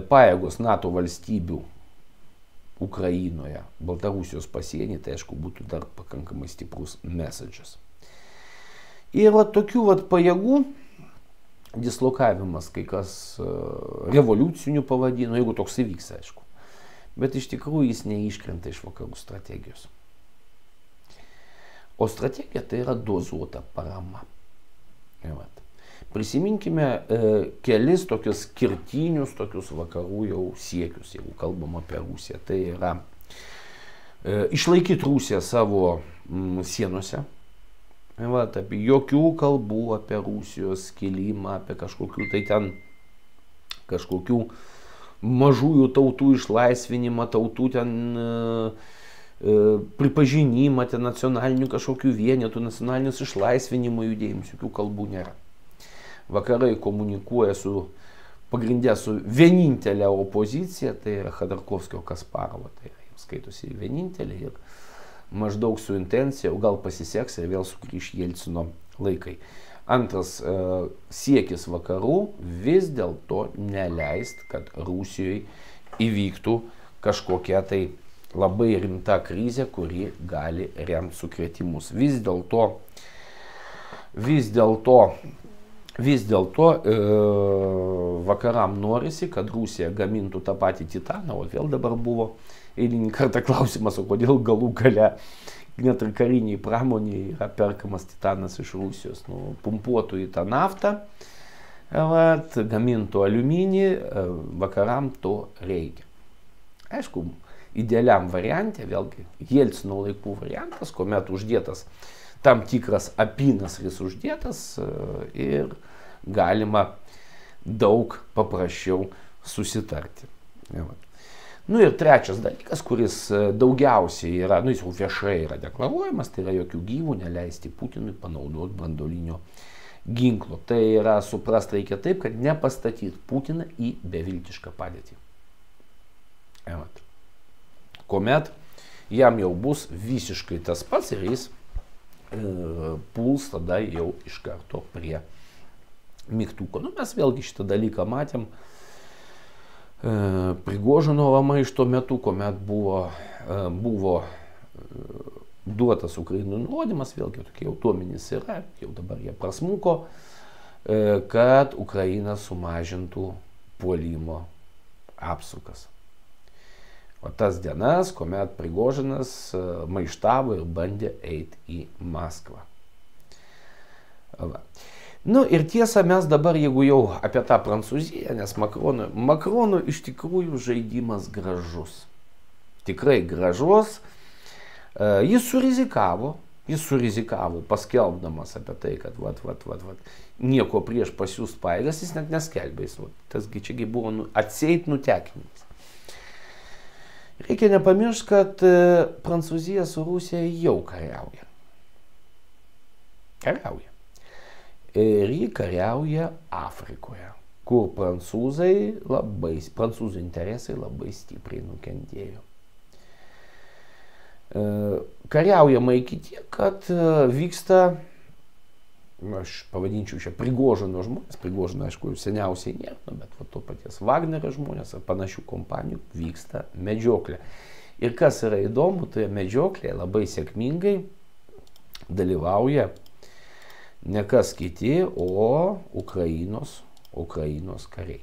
Pajėgos NATO valstybių Ukrainoje, Baltarusijos pasienį, tai aišku būtų dar pakankamai stiprus messages. Ir va tokių va pajėgų dislokavimas, kai kas revoliucinių pavadino, jeigu toks įvyks, aišku. Bet iš tikrųjų jis neiškrenta iš vakarų strategijos. O strategija tai yra dozuota parama. Prisiminkime kelis tokius skirtinius tokius vakarų jau siekius, jeigu kalbam apie Rusiją. Tai yra išlaikyti Rusiją savo sienose. Apie jokių kalbų apie Rusijos skilimą, apie kažkokių tai ten kažkokių mažųjų tautų išlaisvinimą, tautų ten pripažinimą, ten nacionalinių kažkokių vienetų, nacionalinius išlaisvinimo judėjimus, jokių kalbų nėra. Vakarai komunikuoja pagrindė su vienintelė opozicija, tai yra Khodorkovskio Kasparovo, tai yra, jiems skaitosi vienintelė ir maždaug su intencija, o gal pasiseks ir vėl sugrįš Jelcino laikai. Antras siekis vakarų vis dėlto neleist, kad Rusijoje įvyktų kažkokia tai labai rimta krizė, kuri gali remti sukrėtimus. Vis dėlto vakaram norisi, kad Rusija gamintų tą patį titaną, o vėl dabar buvo eilinį kartą klausimas, o kodėl galų gale net ir kariniai pramoniai yra perkamas titanas iš Rusijos. Nu, pumpuotų į tą naftą, gamintų aliuminį, vakaram to reikia. Aišku, idealiam variante, vėlgi, Jelcino laikų variantas, kuomet uždėtas tam tikras apynasris uždėtas ir galima daug paprasčiau susitarti. Nu ir trečias dalykas, kuris daugiausiai yra, nu jis jau viešai yra deklaruojamas, tai yra jokių gyvų neleisti Putinui panaudoti branduolinio ginklo. Tai yra suprast reikia taip, kad nepastatyti Putiną į beviltišką padėtį. Kuomet jam jau bus visiškai tas pats ir jis puls tada jau iš karto prie mygtuko. Nu, mes vėlgi šitą dalyką matėm Prigožinovo maišto metu, kuomet buvo duotas Ukrainai nurodymas, vėlgi tokie jau duomenys yra, jau dabar jie prasmuko, kad Ukraina sumažintų puolimo apsukas. O tas dienas, kuomet Prigožinas maištavo ir bandė eiti į Maskvą. Nu ir tiesa, mes dabar, jeigu jau apie tą Prancūziją, nes Makrono iš tikrųjų žaidimas gražus. Tikrai gražus. Jis surizikavo paskelbdamas apie tai, kad nieko prieš pasiųst pajėgas, jis net neskelbė. Tasgi čiagi buvo atseit nutekinimas. Reikia nepamiršti, kad Prancūzija su Rusija jau kariauja. Ir ji kariauja Afrikoje, kur prancūzų interesai labai stipriai nukentėjo. Kariaujama iki tiek, kad vyksta, aš pavadinčiau čia Prigožino žmonės, Prigožino aišku seniausiai nėra, bet to paties Wagnerio žmonės ar panašių kompanijų vyksta medžioklė. Ir kas yra įdomu, tai medžioklėje labai sėkmingai dalyvauja ne kas kiti, o Ukrainos kariai.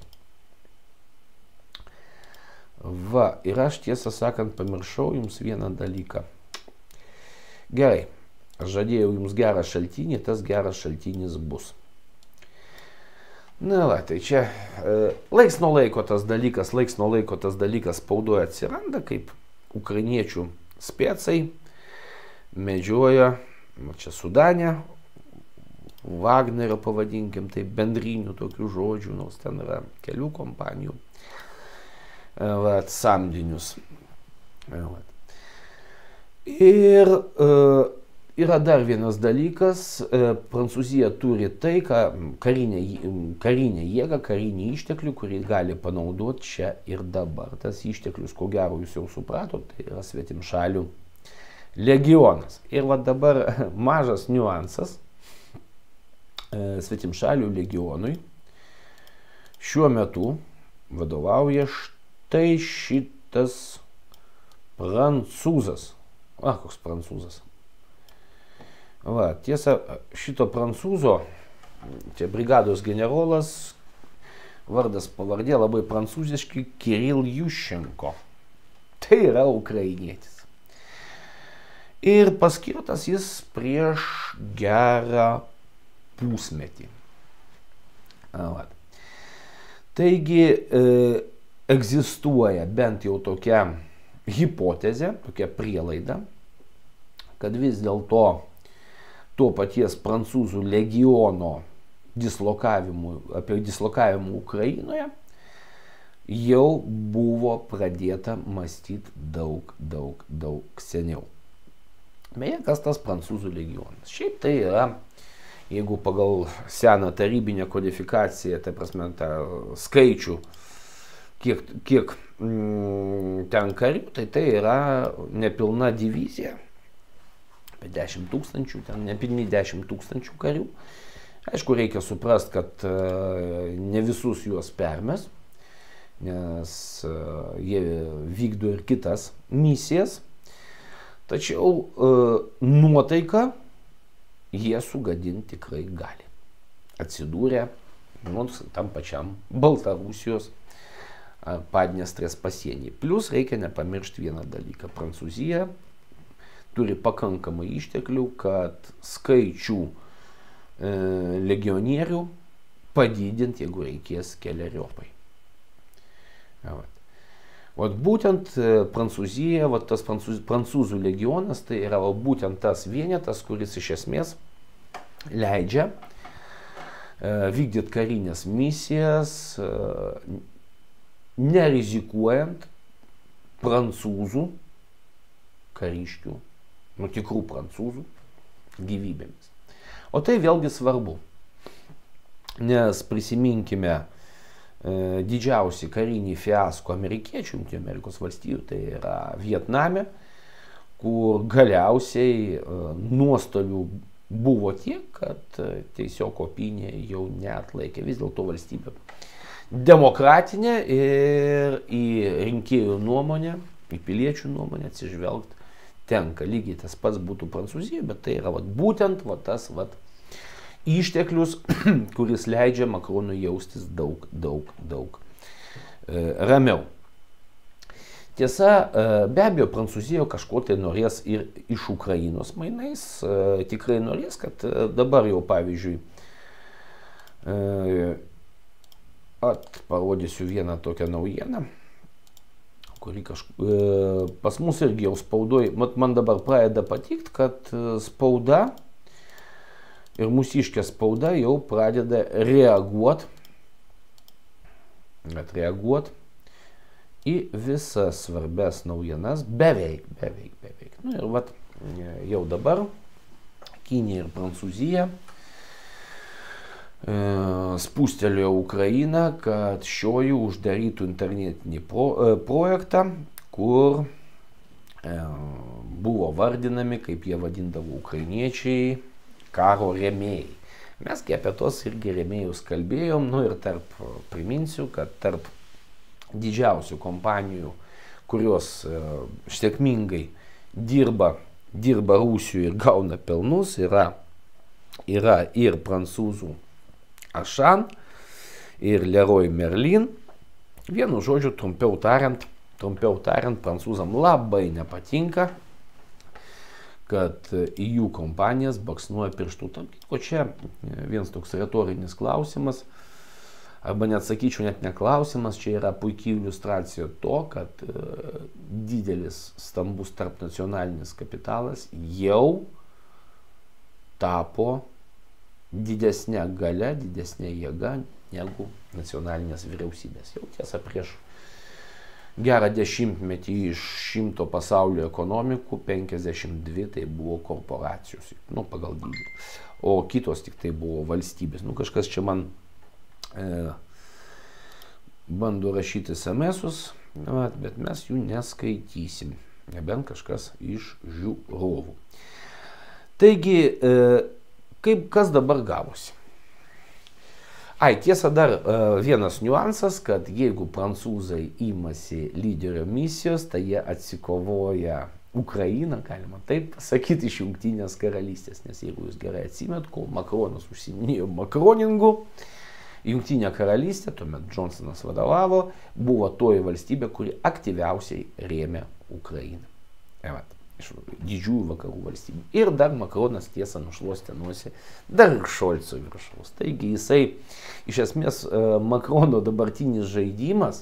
Va, ir aš tiesą sakant pamiršau jums vieną dalyką. Gerai, aš žadėjau jums gerą šaltinį, tas geras šaltinis bus. Na va, tai čia laiks nuo laiko tas dalykas spaudoje atsiranda, kaip ukrainiečių specai medžioja, čia Sudane, Vagnerio pavadinkim, tai bendrinių tokių žodžių, nors ten yra kelių kompanijų, samdinius. Ir yra dar vienas dalykas, Prancūzija turi tai, karinę jėgą, karinį išteklių, kurį gali panaudoti čia ir dabar. Tas išteklius, ko gero jūs jau supratot, tai yra svetimšalių legionas. Ir va dabar mažas niuansas. Svetimšalių legionui šiuo metu vadovauja štai šitas prancūzas. Koks prancūzas. Va, tiesa, šito prancūzo, čia brigados generolas, vardas pavardė labai prancūziški, Kiril Juščenko. Tai yra ukrainietis. Ir paskirtas jis prieš gerą pusmetį. Taigi egzistuoja bent jau tokia hipotezė, tokia prielaida, kad vis dėlto to paties prancūzų legiono dislokavimų Ukrainoje jau buvo pradėta mąstyti daug seniau. Beje, kas tas prancūzų legionas? Šiaip tai yra, jeigu pagal seną tarybinę kodifikaciją, tai prasme, tą skaičių, kiek ten karių, tai yra nepilna divizija, apie 10 000, ten nepilni 10 000 karių. Aišku, reikia suprasti, kad ne visus juos permes, nes jie vykdo ir kitas misijas, tačiau nuotaiką jie sugadinti tikrai gali. Atsidūrė tam pačiam Baltarusijos ar Padniestrės pasienį. Plius reikia nepamiršti vieną dalyką. Prancūzija turi pakankamai išteklių, kad skaičių legionierių padidinti, jeigu reikės keleriopai. Vat būtent Prancūzija, tas prancūzų legionas, tai yra būtent tas vienetas, kuris iš esmės leidžia vykdyti karinės misijas, nerizikuojant prancūzų kariškių, tikrų prancūzų gyvybėmis. O tai vėlgi svarbu, nes prisiminkime didžiausi karinį fiasko amerikiečių, Jungtinių Amerikos valstijų, tai yra Vietname, kur galiausiai nuostolių buvo tiek, kad tiesiog opinija jau neatlaikė. Vis dėlto valstybė demokratinė ir į rinkėjų nuomonę, į piliečių nuomonę atsižvelgti tenka. Lygiai tas pats būtų Prancūzija, bet tai yra būtent tas išteklius, kuris leidžia Makronui jaustis daug ramiau. Tiesa, be abejo, Prancūzija kažko tai norės ir iš Ukrainos mainais. Tikrai norės, kad dabar jau, pavyzdžiui, parodysiu vieną tokią naujieną, kuri pas mus irgi jau spaudoj, man dabar pradeda patikti, kad spauda ir mūsiškė spauda jau pradeda reaguoti į visas svarbes naujienas, beveik. Nu ir jau dabar Kinija ir Prancūzija spūstelėjo Ukrainą, kad šioji uždarytų internetinį projektą, kur buvo vardinami, kaip jie vadindavo ukrainiečiai, karo rėmėjai. Mes apie tos irgi rėmėjus kalbėjom, ir priminsiu, kad tarp didžiausių kompanijų, kurios sėkmingai dirba Rusijoje ir gauna pelnus, yra ir prancūzų Auchan, ir Leroy Merlin. Vienu žodžiu, trumpiau tariant, prancūzam labai nepatinka, kad į jų kompanijas baksnuoja pirštų. O čia vienas toks retorinis klausimas, arba net sakyčiau, net ne klausimas, čia yra puikiai iliustracija to, kad didelis, stambus tarpnacionalinis kapitalas jau tapo didesnė galia, didesnė jėga negu nacionalinės vyriausybės. Jau tiesa, prieš gerą dešimtmetį iš 100 pasaulio ekonomikų 52 tai buvo korporacijos, pagal dydį, o kitos tik tai buvo valstybės. Kažkas čia man bando rašyti SMS-us, bet mes jų neskaitysim, nebent kažkas iš žiūrovų. Taigi, kas dabar gavosi? Tiesa, dar vienas niuansas, kad jeigu prancūzai imasi lyderio misijos, tai jie atsikovoja Ukrainą, galima taip sakyti, iš Jungtinės karalystės. Nes jeigu jūs gerai atsimet, kol Makronas užsiminėjo makroningu, Jungtinė karalystė, tuomet Johnsonas vadovavo, buvo toji valstybė, kuri aktyviausiai rėmė Ukrainą. Iš didžiųjų vakarų valstybių. Ir dar Makronas tiesą nušluostė nosį dar ir Šolco viršaus. Taigi jisai, iš esmės, Makrono dabartinis žaidimas,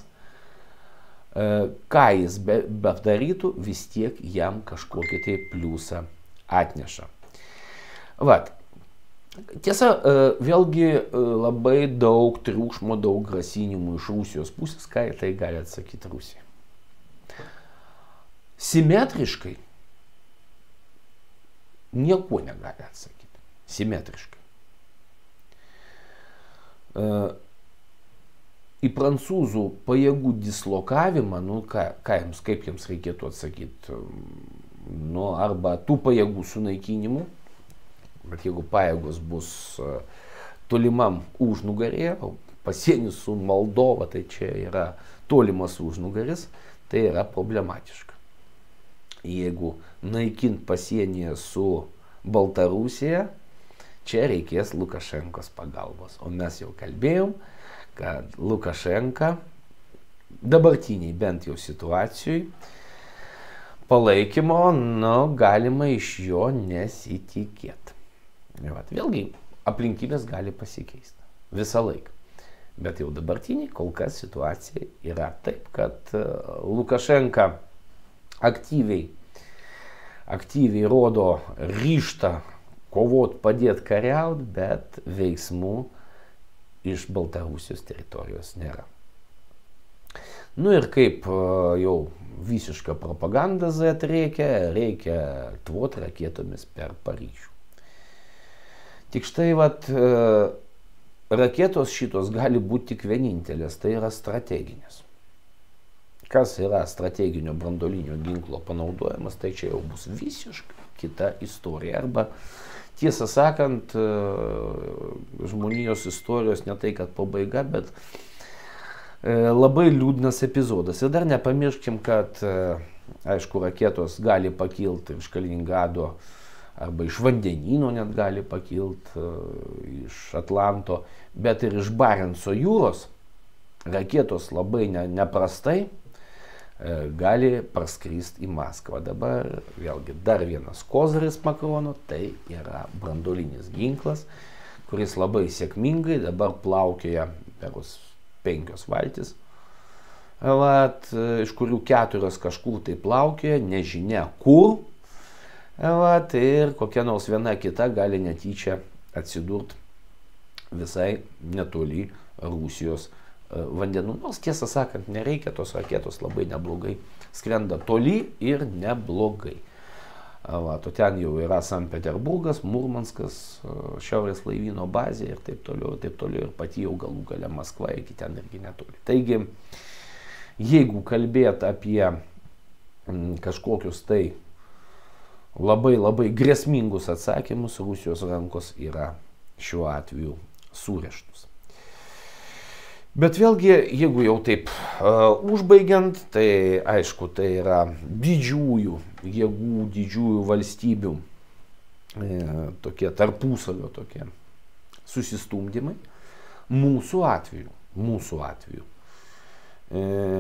ką jis bedarytų, vis tiek jam kažkokį tai pliusą atneša. Tiesa, vėlgi labai daug triukšmo, daug grasinimų iš Rusijos pusės, ką tai gali atsakyti Rusija. Simetriškai nieko negali atsakyti. Simetriškai. Į prancūzų pajėgų dislokavimą, kaip jiems reikėtų atsakyti, arba tų pajėgų sunaikinimų, bet jeigu pajėgos bus tolimam užnugarėje, pasienis su Moldova, tai čia yra tolimas užnugaris, tai yra problematiška. Jeigu naikint pasienyje su Baltarusija, čia reikės Lukašenkos pagalbos. O mes jau kalbėjom, kad Lukašenka dabartiniai bent jau situacijai palaikymo, galima iš jo nesitikėti. Vėlgi, aplinkybės gali pasikeisti. Visą laiką. Bet jau dabartiniai kol kas situacija yra taip, kad Lukašenka aktyviai rodo ryžtą kovot, padėti kariauti, bet veiksmų iš Baltarusijos teritorijos nėra. Ir kaip jau visiška propaganda Z reikia tvot raketomis per Paryžių. Tik štai raketos šitos gali būti tik vienintelės, tai yra strateginės. Kas yra strateginio branduolinio ginklo panaudojimas, tai čia jau bus visiškai kita istorija. Arba, tiesą sakant, žmonijos istorijos ne tai, kad pabaiga, bet labai liūdnas epizodas. Ir dar nepamirškim, kad, aišku, raketos gali pakilti iš Kaliningrado, arba iš vandenyno net gali pakilti, iš Atlanto, bet ir iš Barenco jūros raketos labai neprastai gali praskristi į Maskvą. Dabar vėlgi dar vienas kozaris Makrono, tai yra branduolinis ginklas, kuris labai sėkmingai dabar plaukioja per 5 valtis, iš kurių 4 kažkur tai plaukioja, nežinia kur, ir kokia nors viena kita gali netyčia atsidurti visai netoli Rusijos vandenų. Nors tiesą sakant, nereikia, tos raketos labai neblogai skrenda toli ir neblogai. Ten jau yra Sankt Peterburgas, Murmanskas, Šiaurės laivyno bazė ir taip toliau, ir pati jau galų gale Maskva iki ten irgi netoli. Taigi, jeigu kalbėt apie kažkokius tai labai grėsmingus atsakymus, Rusijos rankos yra šiuo atveju surištus. Bet vėlgi, jeigu jau taip užbaigiant, tai aišku, tai yra didžiųjų jėgų, didžiųjų valstybių tokie tarpusavio tokie susistumdymai. Mūsų atveju,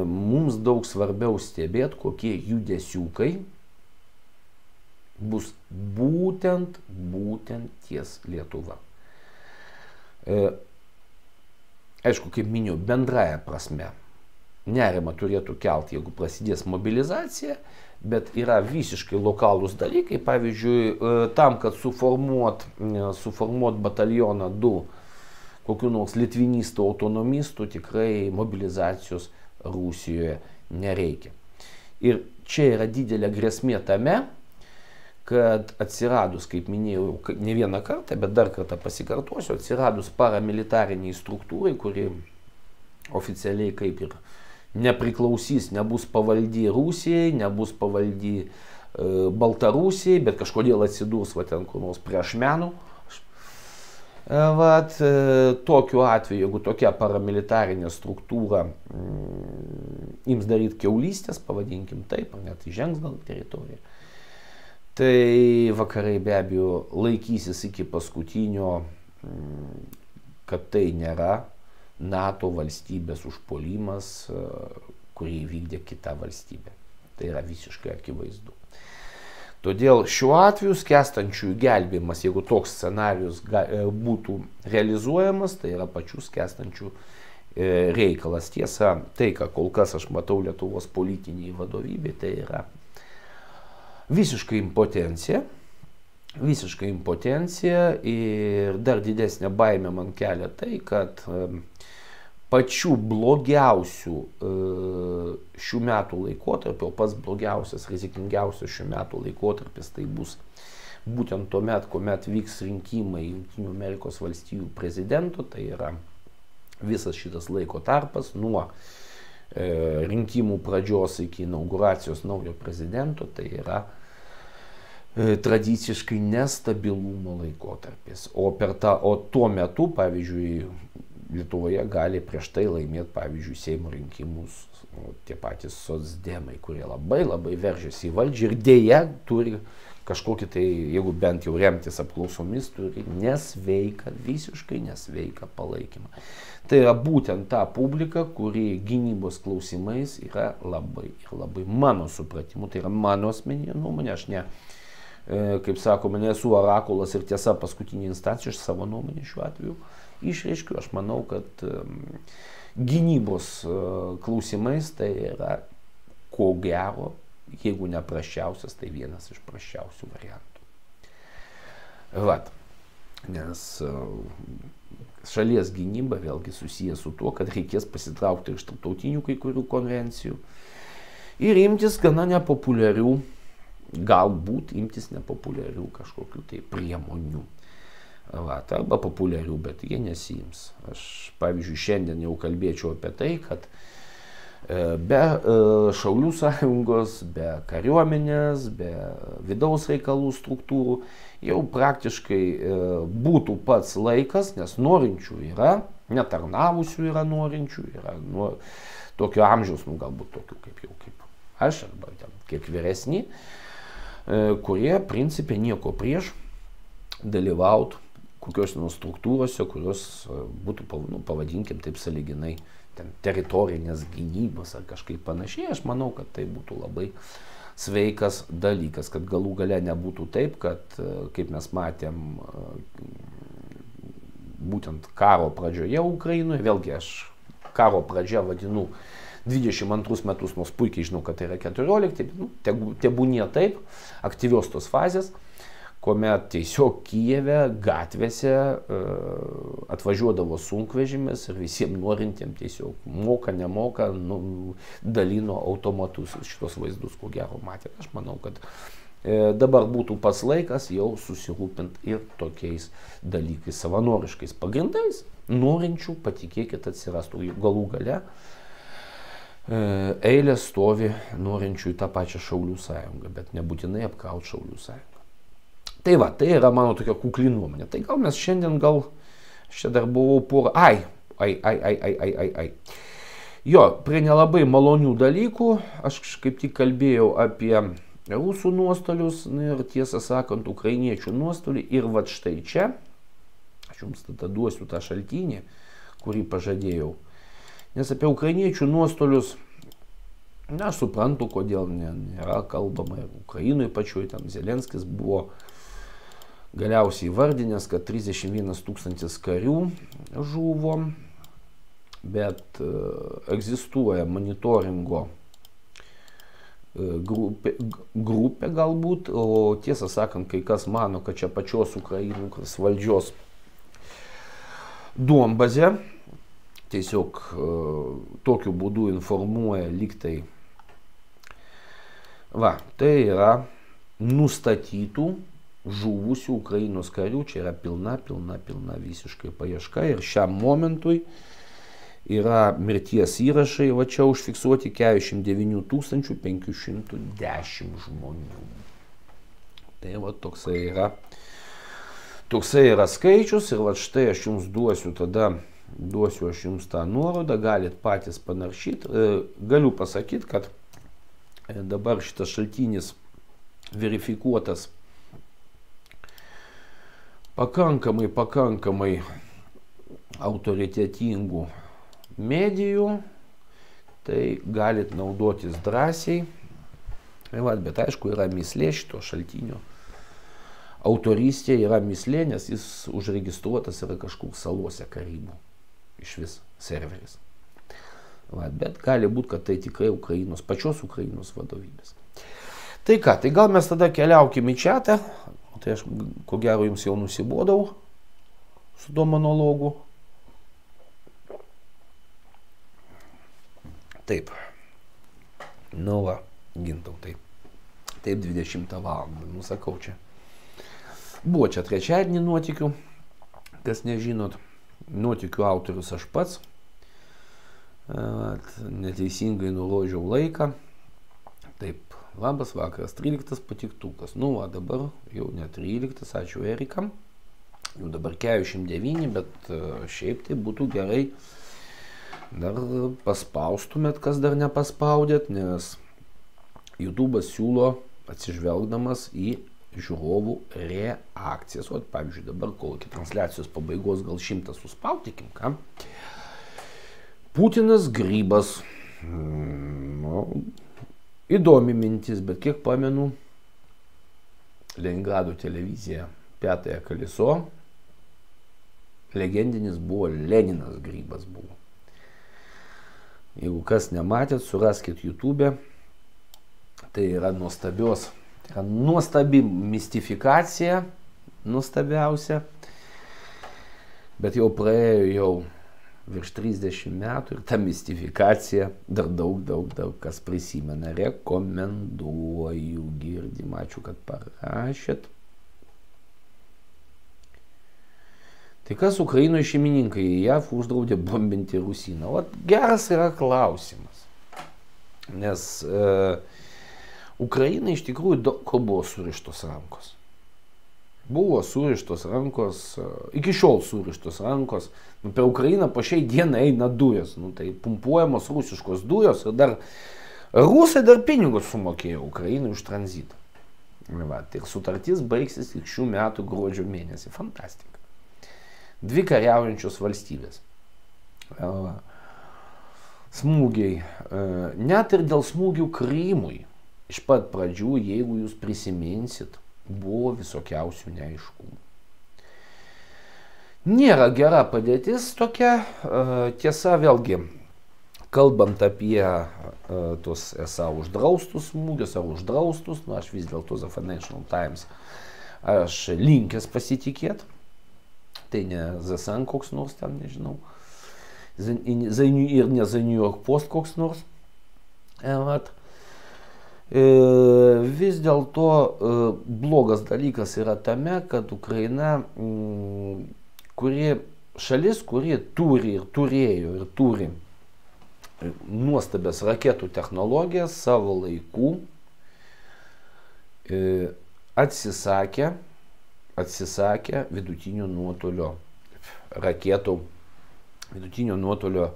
mums daug svarbiau stebėti, kokie judesiukai bus būtent ties Lietuva. Aišku, kaip minėjau, bendraja prasme nerimą turėtų kelti, jeigu prasidės mobilizacija, bet yra visiškai lokalūs dalykai. Pavyzdžiui, tam, kad suformuot batalioną 2 kokių nors litvinistų, autonomistų, tikrai mobilizacijos Rusijoje nereikia. Ir čia yra didelė grėsmė tame, kad atsiradus, kaip minėjau ne vieną kartą, bet dar kartą pasikartosiu, atsiradus paramilitariniai struktūrai, kuri oficialiai kaip ir nepriklausys, nebus pavaldi Rusijai, nebus pavaldi Baltarusijai, bet kažkodėl atsidurs ten kur nors prie Ašmenų. Tokiu atveju, jeigu tokia paramilitarinė struktūra ims daryti kiaulystės, pavadinkim taip, ar net įžengs gal teritoriją, tai vakarai be abejo laikysis iki paskutinio, kad tai nėra NATO valstybės užpuolimas, kurį įvykdė kita valstybė. Tai yra visiškai akivaizdu. Todėl šiuo atveju skęstančiųjų gelbėjimas, jeigu toks scenarius būtų realizuojamas, tai yra pačių skęstančių reikalas. Tiesa, tai, ką kol kas aš matau Lietuvos politiniai vadovybė, tai yra visiškai impotencija ir dar didesnė baimė man kelia tai, kad pačių blogiausių šių metų laikotarpio, pats blogiausias, rizikingiausias šių metų laikotarpis, tai bus būtent tuomet, kuomet vyks rinkimai Jungtinių Amerikos valstijų prezidento, tai yra visas šitas laiko tarpas nuo rinkimų pradžios iki inauguracijos naujo prezidento, tai yra tradiciškai nestabilumo laikotarpis. O tuo metu, pavyzdžiui, Lietuvoje gali prieš tai laimėti, pavyzdžiui, Seimo rinkimus tie patys socdemai, kurie labai veržiasi į valdžią ir dėja turi kažkokį tai, jeigu bent jau remtis apklausomis, turi visiškai nesveiką palaikymą. Tai yra būtent ta publika, kuri gynybos klausimais yra labai mano supratimu, tai yra mano asmeninė nuomonė, aš ne, kaip sakoma, nesu orakulas ir tiesa paskutinė instancija, aš savo nuomonę šiuo atveju išreiškiu. Aš manau, kad gynybos klausimais tai yra ko gero, jeigu ne prasčiausias, tai vienas iš prasčiausių variantų. Nes šalies gynyba vėlgi susijęs su tuo, kad reikės pasitraukti iš tarptautinių kai kurių konvencijų ir imtis gana nepopuliarių, galbūt imtis nepopuliarių kažkokių tai priemonių. Arba populiarių, bet jie nesiims. Aš, pavyzdžiui, šiandien jau kalbėčiau apie tai, kad be Šaulių sąjungos, be kariuomenės, be vidaus reikalų struktūrų jau praktiškai būtų pats laikas, nes norinčių yra, netarnavusių yra norinčių, yra tokio amžiaus, galbūt tokių kaip aš, arba kiek vyresni, kurie principė nieko prieš dalyvautų kokios nors struktūrose, kurios būtų, pavadinkim taip sąlyginai, teritorinės gynybos ar kažkaip panašiai. Aš manau, kad tai būtų labai sveikas dalykas, kad galų gale nebūtų taip, kad, kaip mes matėm, būtent karo pradžioje Ukrainoje, vėlgi aš karo pradžią vadinu 22 metus, nors puikiai žinau, kad tai yra 14, tebūnie taip, aktyvios tos fazės, kuomet tiesiog Kijeve gatvėse atvažiuodavo sunkvežimis ir visiems norintiems tiesiog moka, nemoka, dalino automatus. Šitos vaizdus, ko gero, matėte. Aš manau, kad dabar būtų pats laikas jau susirūpinti ir tokiais dalykais, savanoriškais pagrindais, norinčių, patikėkit, atsirastų galų gale. Eilė stovi norinčių į tą pačią Šaulių sąjungą, bet nebūtinai apkrauti Šaulių sąjungą. Tai yra mano tokia kukli nuomonė. Tai gal mes šiandien, aš čia dar buvau Ai. Jo, prie nelabai malonių dalykų, aš kaip tik kalbėjau apie rusų nuostolius ir tiesą sakant, ukrainiečių nuostolį. Ir vat štai čia, aš jums tada duosiu tą šaltinį, kurį pažadėjau. Nes apie ukrainiečių nuostolius, na, aš suprantu, kodėl nėra kalbama. Ir Ukrainoje pačioj, tam Zelenskis buvo galiausiai įvardinęs, kad 31 000 karių žuvo, bet egzistuoja monitoringo grupė galbūt, o tiesą sakant, kai kas mano, kad čia pačios Ukrainos valdžios duombazė tiesiog tokiu būdu informuoja lygtai. Va, tai yra nustatytų žuvusių Ukrainos karių, čia yra pilna visiškai paieška ir šiam momentui yra mirties įrašai, va čia užfiksuoti 49 510 žmonių. Tai va toksai yra skaičius ir va štai aš jums duosiu aš jums tą nuorodą, galit patys panaršyti. Galiu pasakyti, kad dabar šitas šaltinis verifikuotas pakankamai autoritetingų medijų, tai galit naudotis drąsiai. Bet aišku, yra mislė šito šaltinio. Autorystė yra mislė, nes jis užregistruotas yra kažkur salose Karibų. Iš vis serveris. Bet gali būti, kad tai tikrai pačios Ukrainos vadovybės. Tai ką, tai gal mes tada keliaukime į čiatą. Tai aš, ko gero, jums jau nusibodau su tuo monologu. Taip. Nu va, Gintautai. Taip, 20 valandą, nusakau čia. Buvo čia trečiadienį nuotykių. Kas nežinot, nuotykių autorius aš pats. Neteisingai nurodžiau laiką. Taip. Labas vakaras, 13 patiktukas. Nu, va, dabar jau ne 13, ačiū Erikam. Jau dabar 49, bet šiaip tai būtų gerai dar paspaustumėt, kas dar nepaspaudėt, nes YouTube'as siūlo atsižvelgdamas į žiūrovų reakcijas. O, pavyzdžiui, dabar kol iki transliacijos pabaigos gal 100 suspaudykim, ką? Putinas grybas. Įdomi mintis, bet kiek pamenu, Leningrado televizija Piatąją Koliso, legendinis buvo Leninas grybas buvo. Jeigu kas nematėt, suraskit YouTube, tai yra nuostabi mistifikacija, nuostabiausia, bet jau praėjo virš 30 metų ir ta mistifikacija dar daug kas prisimena. Rekomenduoju, girdim, ačiū, kad parašėt. Tai kas Ukrainoje šeimininkai, JAV uždraudė bombinti Rusiną? O geras yra klausimas. Nes Ukrainai iš tikrųjų daug ko buvo surištos rankos. Buvo surištos rankos, iki šiol surištos rankos. Per Ukrainą po šiai dienai eina dujos. Tai pumpuojamos rusiškos dujos ir dar rusai dar pinigus sumokėjo Ukrainai už tranzitą. Ir sutartis baigsis tik šių metų gruodžio mėnesį. Fantastika. Dvi kariaujančios valstybės. Smūgiai. Net ir dėl smūgių Krymui. Iš pat pradžių, jeigu jūs prisiminsit, buvo visokiausių neaiškumų. Nėra gera padėtis tokia. Tiesa, vėlgi, kalbant apie tos esą uždraustus smūgius ar uždraustus, aš vis dėlto The Financial Times aš linkęs pasitikėti. Tai ne The Sun koks nors ten, nežinau. Ir ne The New York Post koks nors. Vis dėlto blogas dalykas yra tame, kad Ukraina, šalis, kuri turi ir turėjo ir turi nuostabias raketų technologijas, savo laikų atsisakė vidutinio nuotolio raketų vidutinio nuotolio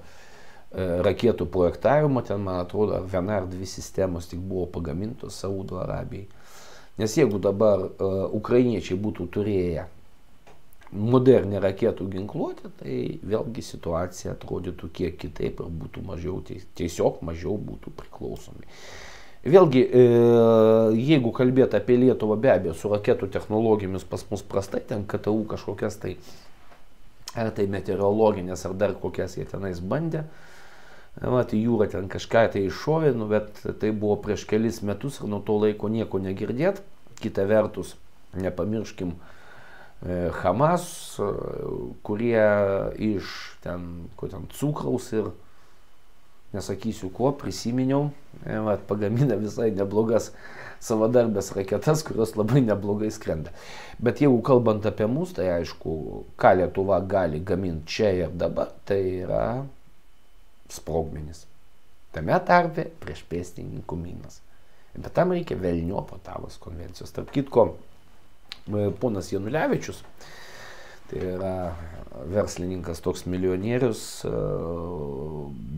raketų projektavimo, ten, man atrodo, viena ar dvi sistemos tik buvo pagamintos Saudo Arabijai. Nes jeigu dabar ukrainiečiai būtų turėję modernę raketų ginkluotę, tai vėlgi situacija atrodytų kiek kitaip ir būtų mažiau, tiesiog mažiau būtų priklausomi. Vėlgi, jeigu kalbėti apie Lietuvą, be abejo, su raketų technologijomis pas mus prastai, ten KTU kažkokias tai, ar tai meteorologinės, ar dar kokias jie tenais bandė, tai jūra ten kažką tai iššovė, bet tai buvo prieš kelis metus ir nuo to laiko nieko negirdėt. Kita vertus, nepamirškim Hamas, kurie iš ten cukraus ir nesakysiu ko, prisiminiau, pagamina visai neblogas savadarbės raketas, kurios labai neblogai skrenda. Bet jeigu kalbant apie mus, tai aišku, ką Lietuva gali gaminti čia ir dabar, tai yra sprogmenis. Tame tarpe prieš pėstininkų minas. Bet tam reikia velniopo Otavos konvencijos. Tarp kitko, ponas Janulevičius, tai yra verslininkas, toks milijonierius,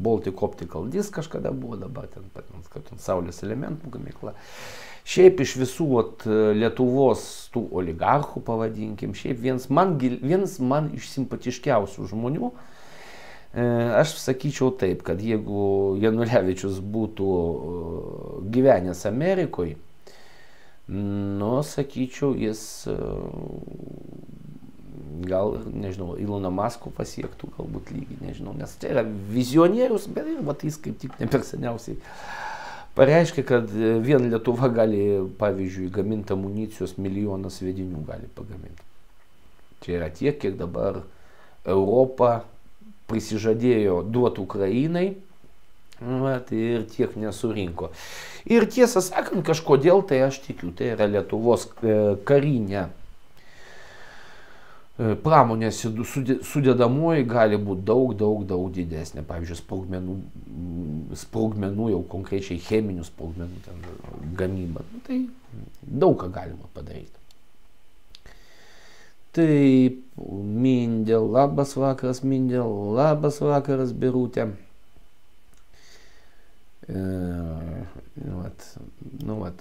Baltic Optical Disc kažkada buvo, dabar ten Saulės elementų gamykla. Šiaip iš visų Lietuvos tų oligarchų, pavadinkim, šiaip vienas man iš simpatiškiausių žmonių. Aš sakyčiau taip, kad jeigu Janulevičius būtų gyvenęs Amerikoje, sakyčiau, jis gal, nežinau, Iloną Maskų pasiektų galbūt lygį, nežinau, nes tai yra vizionierius, bet jis kaip tik ne per seniausiai pareiškia, kad vien Lietuva gali, pavyzdžiui, gaminti amunicijos milijoną sviedinių gali pagaminti. Čia yra tiek, kiek dabar Europa prisižadėjo duoti Ukrainai, ir tiek nesurinko. Ir tiesą sakant, kažkodėl tai aš tikiu, tai yra Lietuvos karinė pramonės sudedamoji gali būti daug didesnė. Pavyzdžiui, sprogmenų, jau konkrečiai cheminių sprogmenų gamyba. Tai daug ką galima padaryti. Taip, Mindė, labas vakaras Mindė, labas vakaras Birutė.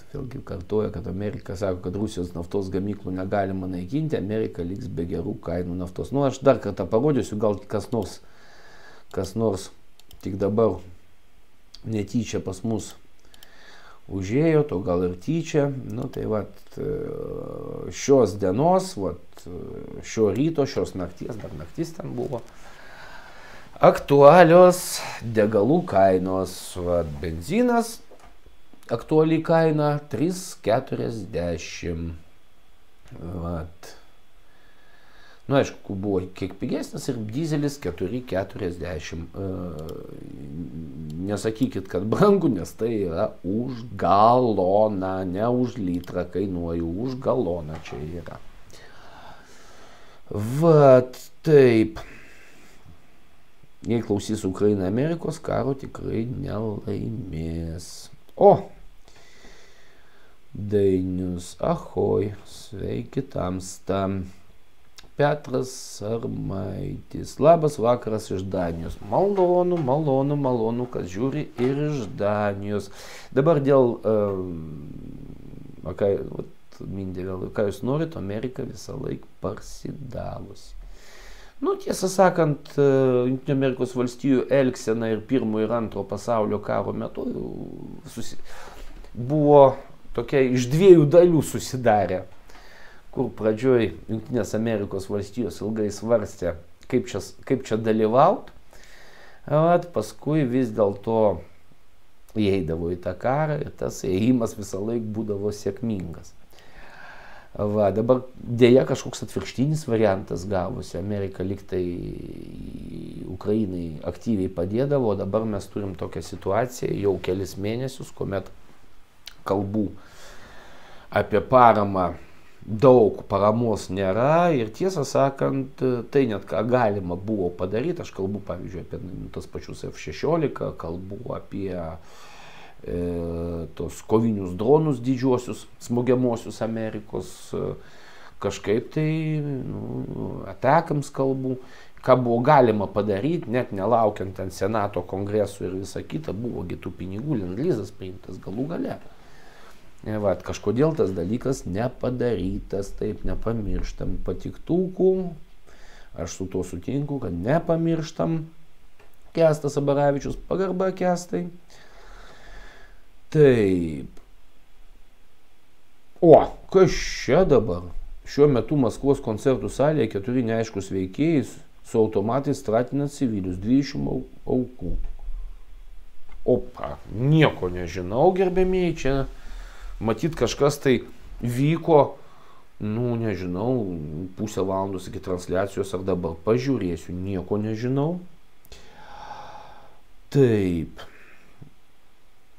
Vėlgi kartuoja, kad Amerika sako, kad Rusijos naftos gamyklų negalima naikinti, Amerika liks be gerų kainų naftos. Aš dar kartą parodysiu, gal kas nors tik dabar netyčia pas mus užėjo, to gal ir tyčia. Šios dienos, šio ryto, šios nakties, dar naktis ten buvo, aktualios degalų kainos. Benzinas, aktuali kaina 3,40. Aišku, buvo kiek pigesnis ir dizelis 4,40. Nesakykit, kad brangu, nes tai yra už galoną, ne už litrą kainuoju, už galoną čia yra. Taip. Jei klausys Ukraina Amerikos, karo tikrai nelaimės. Dainius, ahoj, sveiki tamsta. Petras Sarmaitis, labas vakaras iš Danijos. Malonu, kad žiūri ir iš Danijos. Dabar dėl, Mindė vėl, ką jūs norit, Amerika visą laiką parsidavusi. Tiesą sakant, Junktinių Amerikos valstijų elgsena ir pirmo ir antro pasaulio karo metu buvo tokia iš dviejų dalių susidarę, kur pradžioj Junktinės Amerikos valstijos ilgai svarstė, kaip čia dalyvauti, paskui vis dėlto įeidavo į tą karą ir tas ėjimas visą laiką būdavo sėkmingas. Dabar dėja kažkoks atvirkštinis variantas gavosi. Amerika liktai Ukrainai aktyviai padėdavo, o dabar mes turim tokią situaciją jau kelis mėnesius, kuomet kalbų apie paramą daug, paramos nėra ir tiesą sakant, tai net ką galima buvo padaryti. Aš kalbu pavyzdžiui apie tas pačius F-16, kalbu apie tos kovinius dronus didžiuosius, smogiamuosius Amerikos, kažkaip tai atakams kalbų. ką buvo galima padaryti, net nelaukiant ten Senato kongresų ir visa kita, buvogi tų pinigų, lendlizas priimtas galų gale. Vat, kažkodėl tas dalykas nepadarytas, taip nepamirštam patiktukų, aš su tuo sutinku, kad nepamirštam. Kęstas Abaravičius, pagarba Kęstai. Taip. O, kas čia dabar? Šiuo metu Maskvos koncertų salėje 4 neaiškus veikėjai su automatais stratina civilius, 20 aukų. Opa, nieko nežinau, gerbėmiai, čia matyt kažkas tai vyko, nu nežinau, pusę valandos iki transliacijos ar dabar pažiūrėsiu, nieko nežinau. Taip.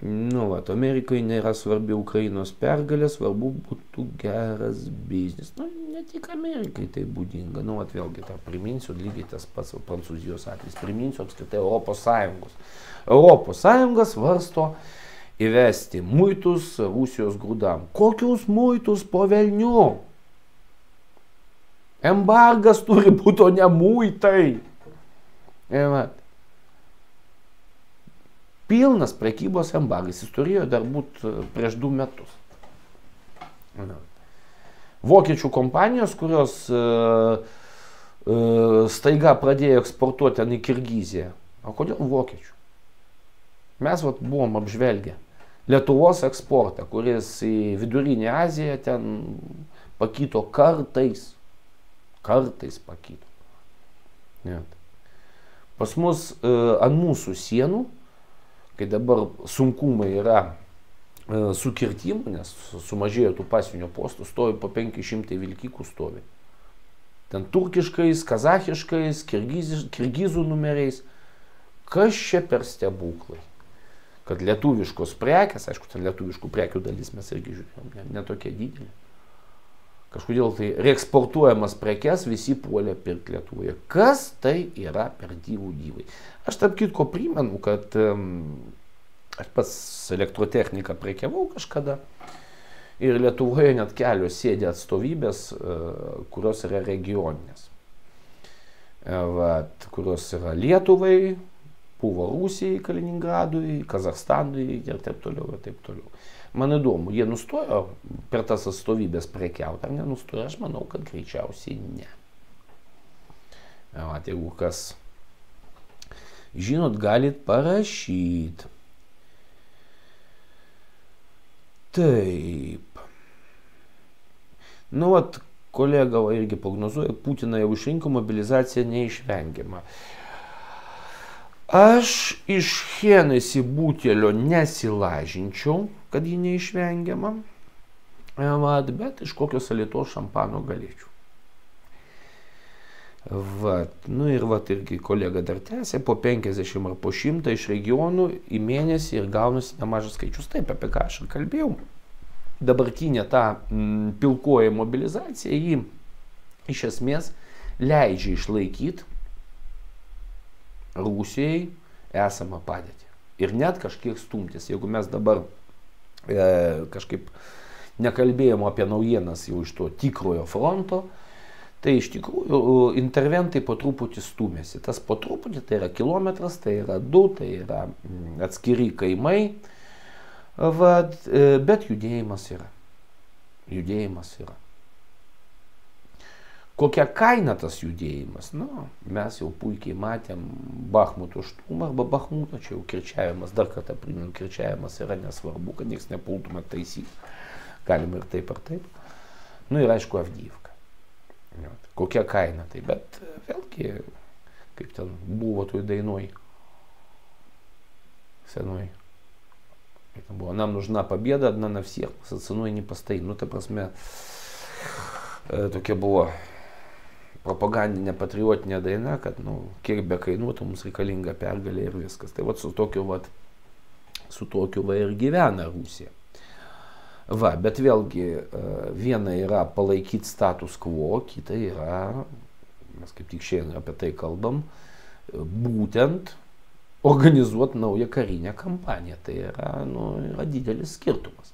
Nu, vat, Amerikai nėra svarbi Ukrainos pergalė, svarbu būtų geras biznis. Nu, ne tik Amerikai tai būdinga. Nu, vat, vėlgi, tą priminsiu, lygiai tas pats Prancūzijos atvejis. Priminsiu apskritai Europos Sąjungos. Europos Sąjunga svarsto įvesti muitus Rusijos grūdam. Kokius muitus po velnių? Embargas turi būti, o ne muitai. Vat. Pilnas prekybos embargas, jis turėjo dar būti prieš 2 metus. Vokiečių kompanijos, kurios staiga pradėjo eksportuoti ten į Kirgiziją. O kodėl vokiečių? Mes vat buvom apžvelgę Lietuvos eksportą, kuris į Vidurinę Aziją ten pakito kartais. Kartais pakito. Net. Pas mus ant mūsų sienų, kai dabar sunkumai yra su kirtimu, nes sumažėjo tų pasienio postų, stovi po 500 vilkikų stovi. Ten turkiškais, kazachiškais, kirgizų numeriais. Kas čia per stebuklai? Kad lietuviškos prekės, aišku, ten lietuviškų prekių dalis mes irgi žiūrėjom, netokia didelė. Kažkodėl tai reeksportuojamas prekes visi puolė pirkti Lietuvoje. Kas tai yra per dyvų dyvai? Aš tarp kitko primenu, kad aš pats elektrotechniką prekiavau kažkada ir Lietuvoje net kelios sėdė atstovybės, kurios yra regioninės. Vat, kurios yra Lietuvai, buvo Rusijai, Kaliningradui, Kazachstanui ir taip toliau ir taip toliau. Man įdomu, jie nustojo per tas atstovybės prekiauti, ar nenustojo? Aš manau, kad greičiausiai ne. Vat, jeigu kas žinot, galit parašyti. Taip. Nu, vat, kolega irgi prognozuoja, Putiną jau išrinko, mobilizacija neišvengiama. Aš iš Hennessy butelio nesilažinčiau, kad ji neišvengiama, bet iš kokios Alytaus šampano galėčiau. Vat, nu ir vat irgi kolega dar tęsė, po 50 ar po 100 iš regionų į mėnesį ir gaunasi nemažas skaičius. Taip, apie ką aš ir kalbėjau. Dabartinė ta pilkoji mobilizacija, jį iš esmės leidžia išlaikyti Rusijai esamą padėtį. Ir net kažkiek stumtis. Jeigu mes dabar kažkaip nekalbėjom apie naujienas jau iš to tikrojo fronto, tai iš tikrųjų interventai po truputį stumėsi. Tas po truputį tai yra kilometras, tai yra 2, tai yra atskiri kaimai, bet judėjimas yra. Judėjimas yra. Kokia kaina tas judėjimas? Nu, mes jau puikiai matėm Bachmuto šturmą arba Bachmuto, čia jau kirčiavimas, dar kartą primenu, kirčiavimas yra nesvarbu, kad nieks nepultume taisyti. Galima ir taip ar taip. Nu ir aišku Avdyivka. Kokia kaina tai, bet vėlgi, kaip ten buvo toj dainoj, senoj. Там было, нам нужна победа одна на всех, за ценой не постоим. Ну, ta prasme, tokia buvo propagandinė patriotinė daina, kad, nu, kiek be kainuotų, mums reikalinga pergalė ir viskas. Tai vat su tokiu ir gyvena Rusija. Va, bet vėlgi, viena yra palaikyti status quo, kita yra, mes kaip tik šiandien apie tai kalbam, būtent organizuoti naują karinę kampaniją. Tai yra, nu, yra didelis skirtumas.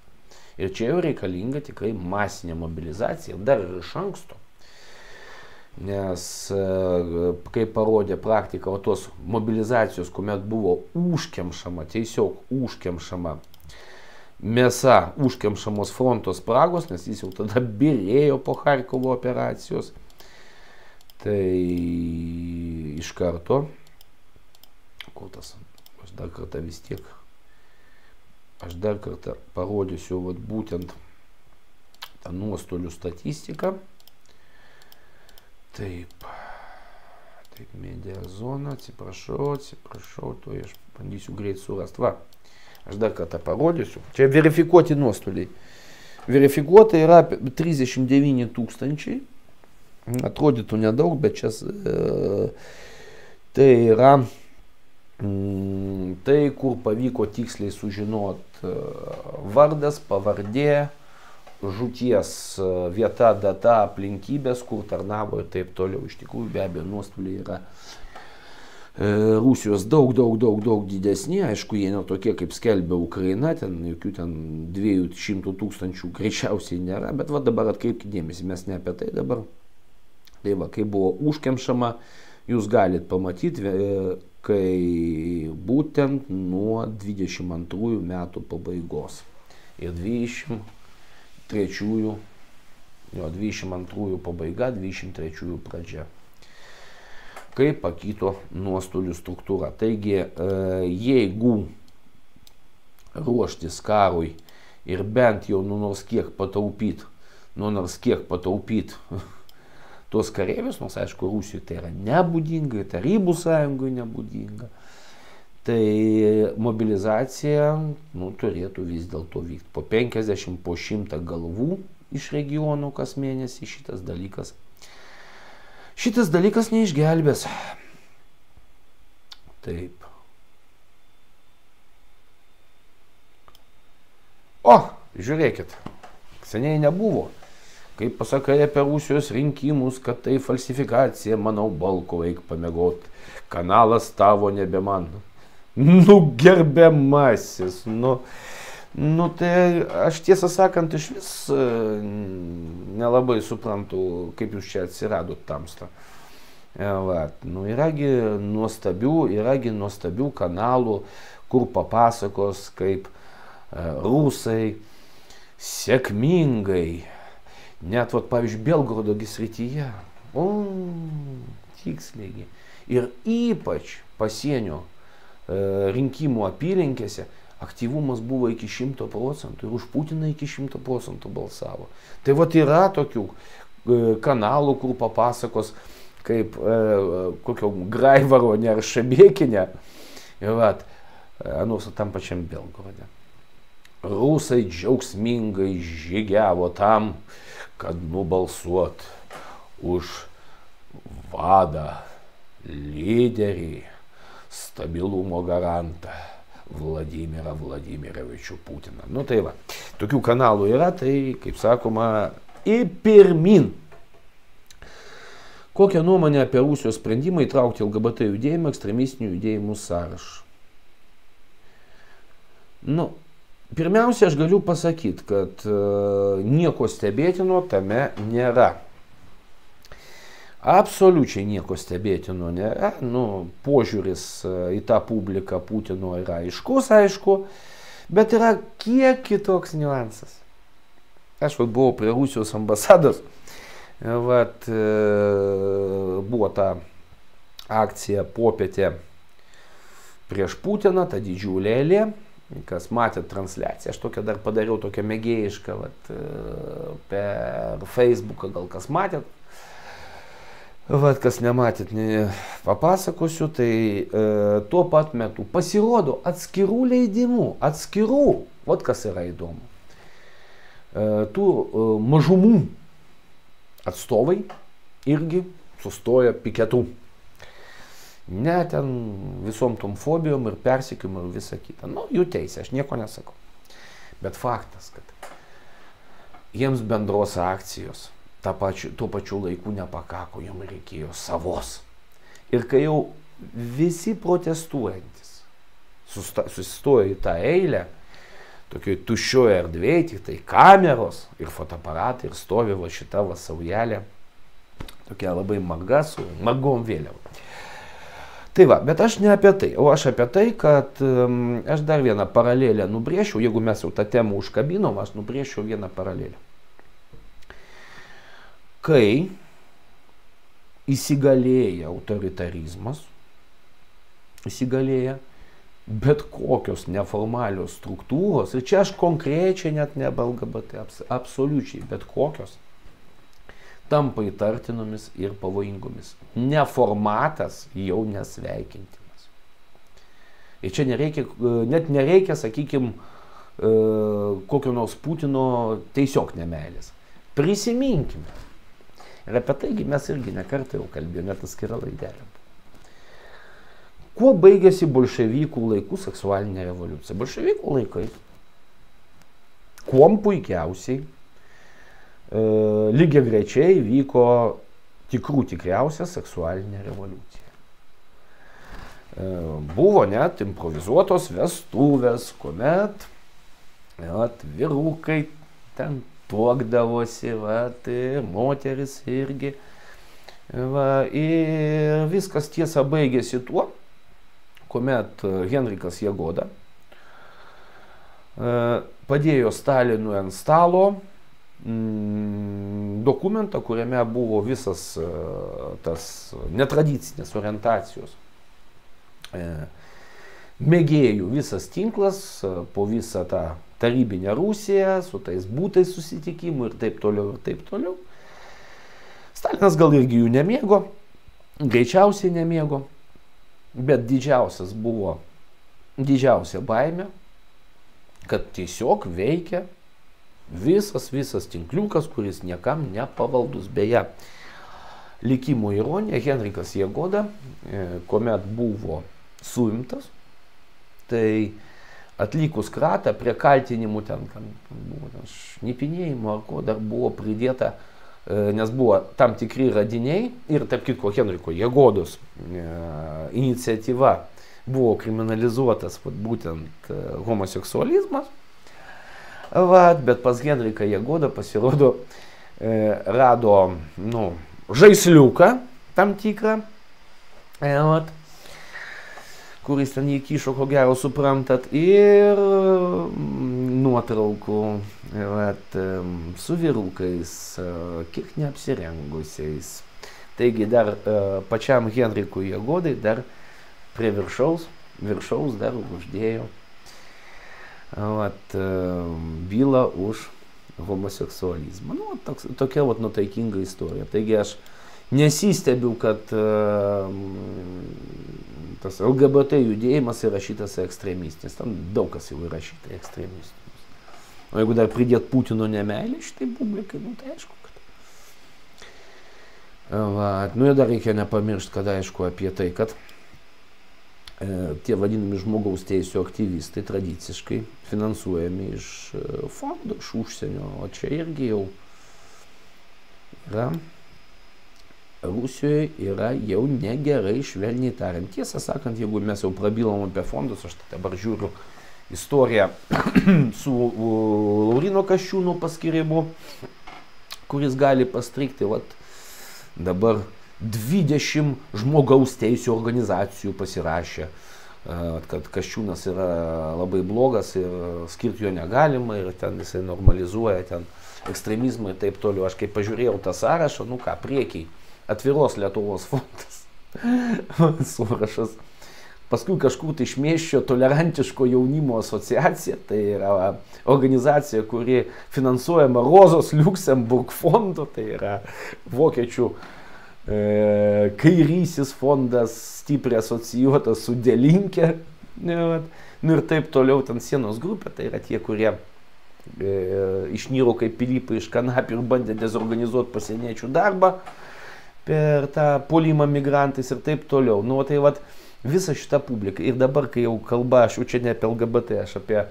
Ir čia jau reikalinga tikrai masinė mobilizacija, dar ir iš anksto. Nes, kaip parodė praktika, o tos mobilizacijos, kuomet buvo užkemšama, tiesiog užkemšama mėsa, užkemšamos fronto spragos, nes jis jau tada birėjo po Charkovo operacijos, tai iš karto, kur tas, aš dar kartą parodysiu vat, būtent tą nuostolių statistiką. Taip, media zona, atsiprašau, to aš bandysiu greit surast. Va, aš dar kartą parodysiu. Čia verifikuoti nuostoliai. Verifikuota yra 39 000. Atrodytų nedaug, bet čia tai yra tai, kur pavyko tiksliai sužinot vardas, pavardė, žūties vieta, data, aplinkybės, kur tarnavo ir taip toliau. Iš tikrųjų, be abejo, nuostoliai yra Rusijos daug didesni. Aišku, jie ne tokie, kaip skelbia Ukraina, ten jokių ten 200 000 greičiausiai nėra, bet va dabar atkreipkite dėmesį, mes ne apie tai dabar. Tai va, kai buvo užkemšama, jūs galite pamatyti, kai būtent nuo 22 metų pabaigos ir 22 pabaiga, 23 pradžia. Kaip pakito nuostolių struktūra. Taigi, jeigu ruoštis karui ir bent jau nors kiek pataupyti tuos kareivius, nors aišku, Rusijai tai yra nebūdinga, Tarybų sąjungai nebūdinga, tai mobilizacija turėtų vis dėlto vykti. Po 50, po 100 galvų iš regionų kas mėnesį šitas dalykas neišgelbės. Taip. O, žiūrėkit, seniai nebuvo. Kaip pasakai apie Rusijos rinkimus, kad tai falsifikacija, manau, Balko eik pamiegot, kanalas tavo nebe man. Gerbiamasis, tai aš tiesą sakant iš vis nelabai suprantu, kaip jūs čia atsiradot tamsta. Yragi nuostabių kanalų, kur papasakos, kaip rusai sėkmingai, net, pavyzdžiui, Belgorodo srityje, tiksliai, ir ypač pasienio rinkimų apylinkėse aktyvumas buvo iki 100% ir už Putiną iki 100% balsavo. Tai yra tokių kanalų, kur papasakos, kaip kokio Graivaronė ar Šebėkinė, nors tam pačiam Belgorode. Rusai džiaugsmingai žygiavo tam, kad nubalsuot už vadą, lyderį, stabilumo garantą Vladimirą Vladimirovičių Putiną. Tai va, tokių kanalų yra, tai, kaip sakoma, į pirmin. Kokią nuomonę apie Rusijos sprendimą įtraukti LGBT judėjimą ekstremistinių judėjimų sąrašą? Pirmiausia, aš galiu pasakyti, kad nieko stebėtino tame nėra. Absoliučiai nieko stebėtino nėra. Požiūris į tą publiką Putino yra aiškus, aišku, bet yra kiek kitoks niuansas. Aš buvau prie Rusijos ambasados, buvo ta akcija popietė prieš Putiną, ta didžiulė eilė. Kas matė transliaciją, aš tokią dar padariau, tokią mėgėjišką per Facebooką, gal kas matėt. Kas nematėt, papasakosiu, tai tuo pat metu pasirodo atskirų leidimų, kas yra įdomu. Tų mažumų atstovai irgi sustoja piketų. Ne ten visom tom fobijom ir persekiojimom ir visa kita. Jų teisė, aš nieko nesakau. Bet faktas, kad jiems bendros akcijos tuo pačiu laiku nepakako, jiems reikėjo savos. Ir kai jau visi protestuojantis susistojo į tą eilę, tokioj tuščioje erdvėje, tik tai kameros ir fotoaparatai ir stovi šita saujelė Tokia labai marga su margom vėliavom. Tai va, bet aš ne apie tai, o aš apie tai, kad aš dar vieną paralelę nubrėšiau, jeigu mes jau tą temą užkabinom, aš nubrėšiau vieną paralelę. Kai įsigalėja autoritarizmas, įsigalėja bet kokios neformalios struktūros, ir čia aš konkrečiai net ne LGBT, absoliučiai bet kokios, tampa įtartinomis ir pavojingomis. Neformatas jau nesveikintinas. Ir čia nereikia, net nereikia, sakykime, kokio nors Putino tiesiog nemeilės. Prisiminkime. Ir apie taigi mes irgi nekartą jau kalbėjome, net atskira laidelė. Kuo baigėsi bolševikų laikų seksualinė revoliucija? Bolševikų laikai kuom puikiausiai lygiagrečiai vyko tikriausia seksualinė revoliucija. Buvo net improvizuotos vestuvės, kuomet vyrukai ten tuokdavosi, moteris irgi. Ir viskas tiesa baigėsi tuo, kuomet Henrikas Jagoda padėjo Stalinui ant stalo dokumentą, kuriame buvo visas tas netradicinės orientacijos mėgėjų visas tinklas po visą tą tarybinę Rusiją, su tais būtais susitikimų ir taip toliau, ir taip toliau. Stalinas gal irgi jų nemėgo, greičiausiai nemėgo, bet didžiausia baimė, kad tiesiog veikia visas tinkliukas, kuris niekam nepavaldus. Beje, likimo ironija, Henrikas Jagoda, kuomet buvo suimtas, tai atlikus kratą prie kaltinimų ten buvo šnipinėjimo ar ko dar buvo pridėta, nes buvo tam tikri radiniai ir tarp kitko Henriko Jagodos iniciatyva buvo kriminalizuotas būtent homoseksualizmas. Bet pas Henriką Jagodą pasirodo rado žaisliuką tam tikrą, kuris ten jį kišo, ko gero suprantat, ir nuotraukų su vyrukais, kiek neapsirengusiais. Taigi dar pačiam Henrikui Jagodai dar prie viršaus dar uždėjo bylą už homoseksualizmą. Tokia nuotaikinga istorija. Taigi aš nesistebiu, kad tas LGBT judėjimas įrašytas ekstremistinis. Tam daug kas jau įrašyta ekstremistinis. O jeigu dar pridėt Putino nemeilę šitai publikai, tai aišku, kad... Ir dar reikia nepamiršti, kad aišku apie tai, kad tie vadinami žmogaus teisų aktyvistai tradiciškai finansuojami iš fondų, iš užsienio, o čia irgi jau yra, Rusijoje yra jau negerai, švelniai tariant. Tiesą sakant, jeigu mes jau prabilom apie fondus, aš dabar žiūriu istoriją su Lauryno Kasčiūno paskirimu, kuris gali pastrikti, dabar 20 žmogaus teisų organizacijų pasirašė, kad Kasčiūnas yra labai blogas ir skirti jo negalima ir ten jisai normalizuoja ten ekstremizmą ir taip toliau. Aš kai pažiūrėjau tą sąrašą, priekiai Atviros Lietuvos fondas sąrašas. Paskui kažkur tai išmėščio Tolerantiško jaunimo asociacija, tai yra organizacija, kuri finansuojama Rozos Liuksemburg fondo, tai yra vokiečių kairysis fondas, stipriai asocijuotas su Die Linke, ir taip toliau, ten Sienos grupė, tai yra tie, kurie išnyro kaip Pilypai iš kanapių ir bandė dezorganizuoti pasieniečių darbą per tą puolimą migrantais ir taip toliau. Tai visa šita publika. Ir dabar, kai jau kalba, aš jau čia ne apie LGBT, aš apie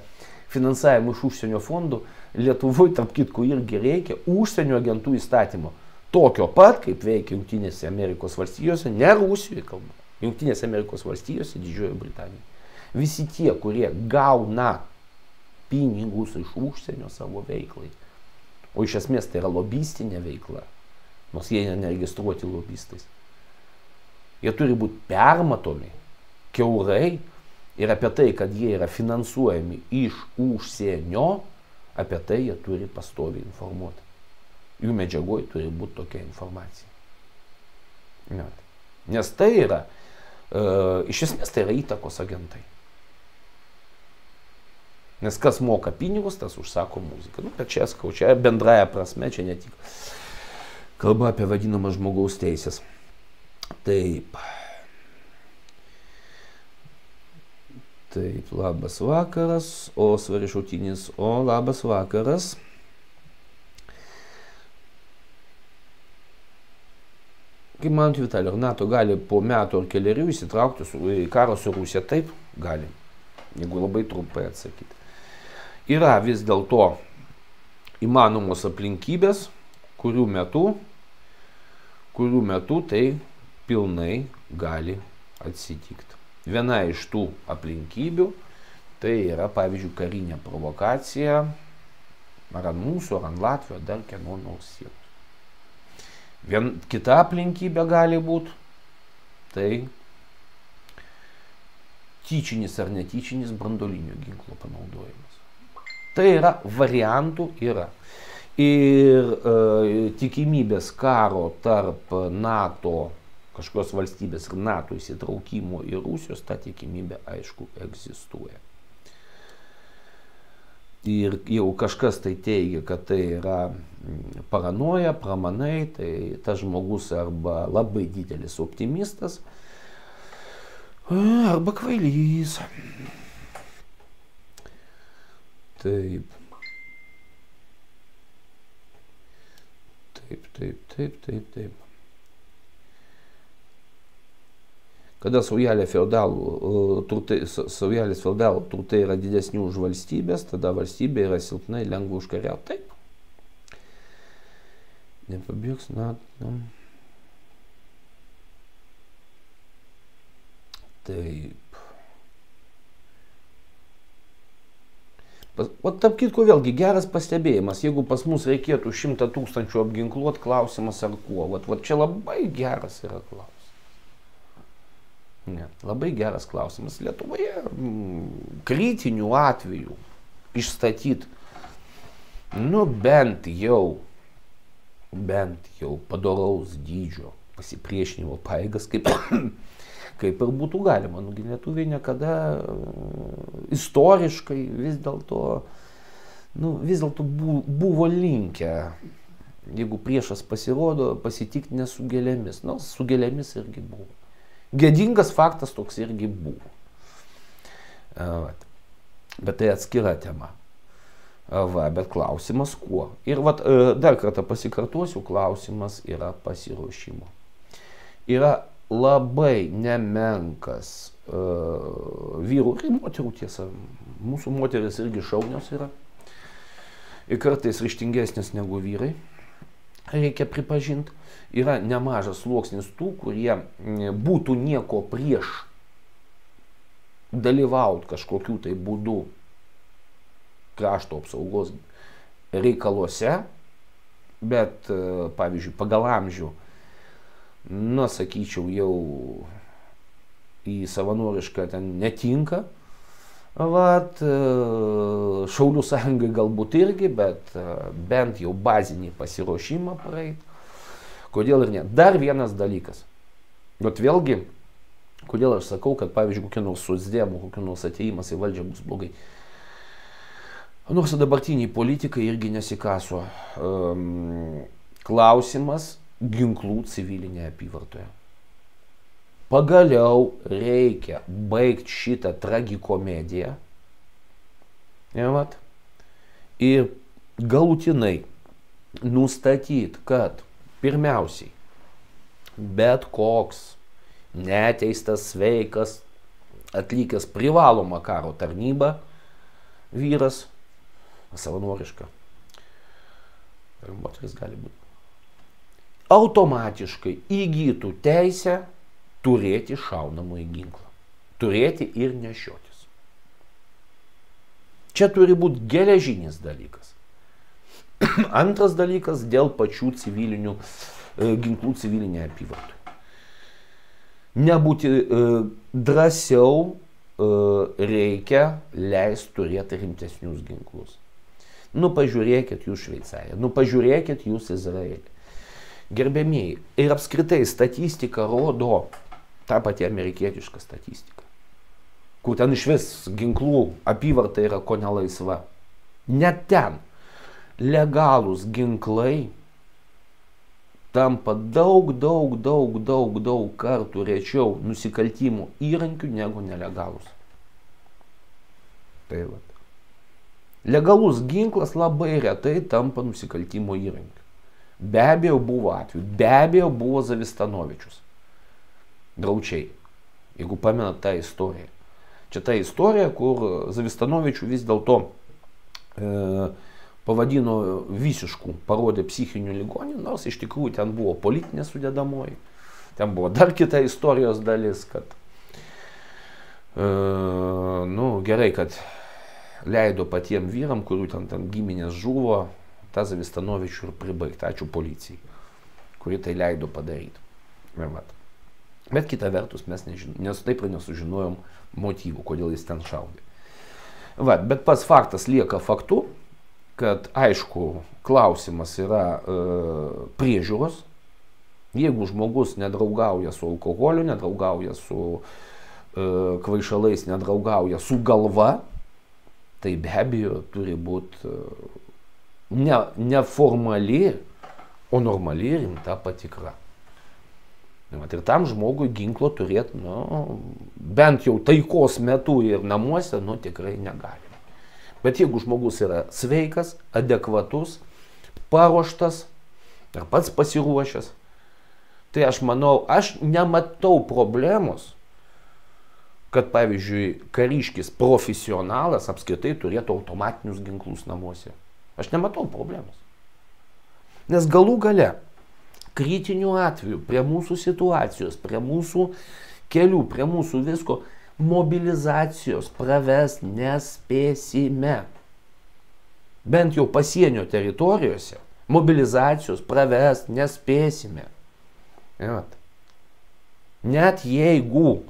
finansavimą iš užsienio fondų, Lietuvoje, tarp kitko, irgi reikia užsienio agentų įstatymo. Tokio pat, kaip veikia Jungtinėse Amerikos valstijose, ne Rusijoje kalba, Jungtinėse Amerikos valstijose, Didžiojoje Britanijoje. Visi tie, kurie gauna pinigus iš užsienio savo veiklai, o iš esmės tai yra lobistinė veikla, nors jie neregistruoti lobistais. Jie turi būti permatomi, kiaurai, ir apie tai, kad jie yra finansuojami iš užsienio, apie tai jie turi pastoviai informuoti. Jų medžiagoje turi būti tokia informacija. Nes tai yra, iš esmės tai yra įtakos agentai. Nes kas moka pinigus, tas užsako muziką. Nu, bet čia skau, čia bendraja prasme, čia ne tik kalba apie vadinamą žmogaus teisės. Taip. Taip, labas vakaras, o Svarišautinis, o labas vakaras. Kaip manot, Vitalij, ar NATO gali po metų ar kelerių įsitraukti į karą su Rusija? Taip, gali, jeigu labai trumpai atsakyti. Yra vis dėlto įmanomos aplinkybės, kurių metu tai pilnai gali atsitikti. Viena iš tų aplinkybių tai yra, pavyzdžiui, karinė provokacija ar ant mūsų, ar ant Latvijos, dar kieno nors sienos. Kita aplinkybė gali būti tai tyčinis ar netyčinis branduolinio ginklo panaudojimas. Tai yra, variantų yra. Ir tikimybės karo tarp NATO, kažkokios valstybės ir NATO įsitraukimo į Rusijos, ta tikimybė, aišku, egzistuoja. Ir jau kažkas tai teigia, kad tai yra paranoja, pramanai, tai tas žmogus arba labai didelis optimistas, arba kvailys. Taip. Taip. Kada saujelės feodalų turtai yra didesni už valstybės, tada valstybė yra silpna ir lengva užkariauti. Taip. Nepabėgs NATO. Taip. O tarp kitko vėlgi geras pastebėjimas, jeigu pas mus reikėtų 100 000 apginkluoti, klausimas ar kuo. Vat čia labai geras yra klausimas. Ne, labai geras klausimas. Lietuvoje kritinių atvejų išstatyti, nu bent jau padoraus dydžio pasipriešinimo pajėgas, kaip ir būtų galima. Nugi lietuviai niekada istoriškai vis dėlto buvo linkę, jeigu priešas pasirodo, pasitikti ne su gėlėmis. Nors su gėlėmis irgi buvo. Gėdingas faktas toks irgi buvo. Bet tai atskira tema. Bet klausimas kuo? Ir dar kartą pasikartosiu, klausimas yra pasiruošimo. Yra labai nemenkas vyrų ir moterų, tiesa, mūsų moteris irgi šaunios yra. Ir kartais ryžtingesnės negu vyrai, reikia pripažinti. Yra nemažas sluoksnis tų, kurie būtų nieko prieš dalyvauti kažkokių tai būdų krašto apsaugos reikaluose, bet, pavyzdžiui, pagal amžių, sakyčiau, jau į savanorišką ten netinka. Šaulių sąjungai galbūt irgi, bet bent jau bazinį pasiruošimą praeit. Kodėl ir ne? Dar vienas dalykas. Bet vėlgi, kodėl aš sakau, kad, pavyzdžiui, kokie nors socdemų, kokie nors atėjimas į valdžią bus blogai. Nors dabartiniai politikai irgi nesikaso. Klausimas ginklų civilinėje apyvartoje. Pagaliau reikia baigti šitą tragikomediją. Ir galutinai nustatyti, kad pirmiausiai bet koks neteistas, sveikas, atlikęs privalomą karo tarnybą vyras, savanoriška, ir moteris gali būti, automatiškai įgytų teisę turėti šaunamąjį ginklą. Turėti ir nešiotis. Čia turi būti geležinis dalykas. Antras dalykas dėl pačių civilinių ginklų civilinėje apyvartoje. Nebūti drąsiau reikia leisti turėti rimtesnius ginklus. Nu pažiūrėkit jūs Šveicariją, nu pažiūrėkit jūs Izraelį. Gerbėmieji, ir apskritai statistika rodo tą patį amerikietišką statistiką, kur ten iš vis ginklų apyvarta yra ko nelaisva. Net ten legalūs ginklai tampa daug kartų rečiau nusikaltimų įrankių negu nelegalūs. Tai va. Legalus ginklas labai retai tampa nusikaltimo įrankiu. Be abejo buvo atveju, be abejo buvo Zavistanovičius. Draučiai, jeigu pamenat tą istoriją. Čia ta istorija, kur Zavistanovičių vis dėlto pavadino visiškų, parodė psichinių ligonių, nors iš tikrųjų ten buvo politinė sudėdamoji. Ten buvo dar kita istorijos dalis, kad gerai, kad leido patiem vyram, kurių ten giminės žuvo, tą Zavistanovičių ir pribaigti. Ačiū policijai, kuri tai leido padaryti. Bet kita vertus mes taip ir nesužinojom motyvų, kodėl jis ten šaudė. Bet pats faktas lieka faktu, kad aišku, klausimas yra priežiūros. Jeigu žmogus nedraugauja su alkoholiu, nedraugauja su kvaišalais, nedraugauja su galva, tai be abejo turi būti neformali, o normali rimta patikra. Ir tam žmogui ginklo turėti, bent jau taikos metu ir namuose, tikrai negalima. Bet jeigu žmogus yra sveikas, adekvatus, paruoštas ir pats pasiruošęs, tai aš manau, aš nematau problemos, kad pavyzdžiui kariškis profesionalas apskritai turėtų automatinius ginklus namuose. Aš nematau problemos. Nes galų gale, kritinių atvejų, prie mūsų situacijos, prie mūsų kelių, prie mūsų visko, mobilizacijos pravest nespėsime. Bent jau pasienio teritorijose mobilizacijos pravest nespėsime. Net jeigu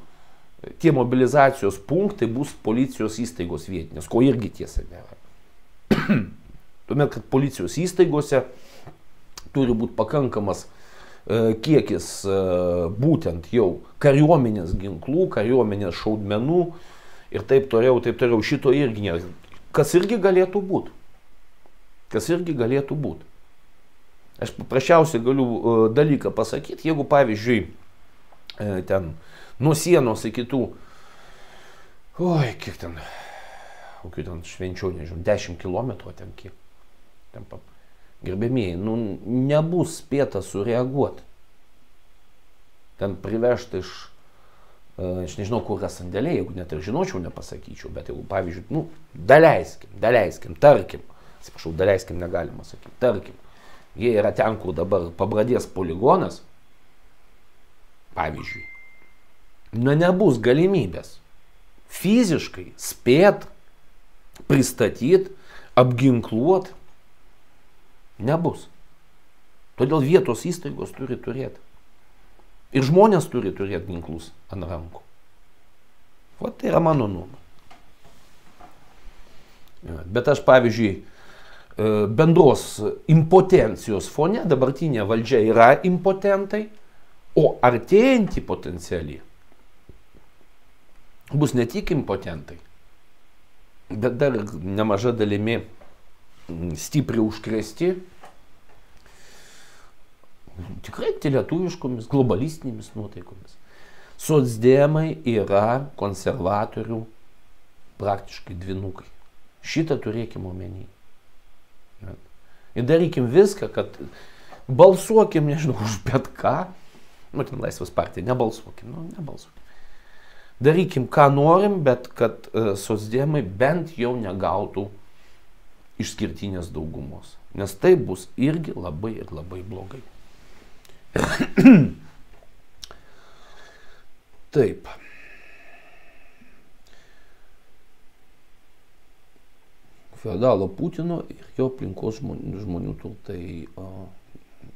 tie mobilizacijos punktai bus policijos įstaigos vietinės, ko irgi tiesa nėra. Tuomet, kad policijos įstaigose turi būti pakankamas kiekis būtent jau kariuomenės ginklų, kariuomenės šaudmenų ir taip toliau, šito irgi nėra. Kas irgi galėtų būti. Aš paprasčiausiai galiu dalyką pasakyti, jeigu pavyzdžiui ten nuo sienos iki tų, kiek ten, kokių ten švenčių, nežinau, 10 kilometrų ten kiek. Gerbėmieji, nebus spėta sureaguoti. Ten privežti aš nežinau, kur yra sandėliai, jeigu net ir žinočiau, nepasakyčiau, bet jeigu, pavyzdžiui, daleiskim, tarkim, atsiprašau, daleiskim negalima sakyti, tarkim, jie yra ten, kur dabar Pabradės poligonas, pavyzdžiui, nebus galimybės fiziškai spėt, pristatyti, apginkluoti, nebus. Todėl vietos įstaigos turi turėti. Ir žmonės turi turėti ginklus ant rankų. Tai yra mano nuomonė. Bet aš, pavyzdžiui, bendros impotencijos fone, dabartinė valdžia yra impotentai, o artėjantį potencialį bus ne tik impotentai, bet dar nemaža dalimi stipriai užkrėsti tikrai lietuviškomis, globalistinėmis nuotaikomis. Socdemai yra konservatorių praktiškai dvynukai. Šitą turėkim omeny. Ir darykim viską, kad balsuokim, nežinau, už bet ką. Ten Laisvės partija, nebalsuokim. Darykim, ką norim, bet kad socdemai bent jau negautų išskirtinės daugumos. Nes tai bus irgi labai ir labai blogai. Taip. Feodalo Putino ir jo aplinkos žmonių turtai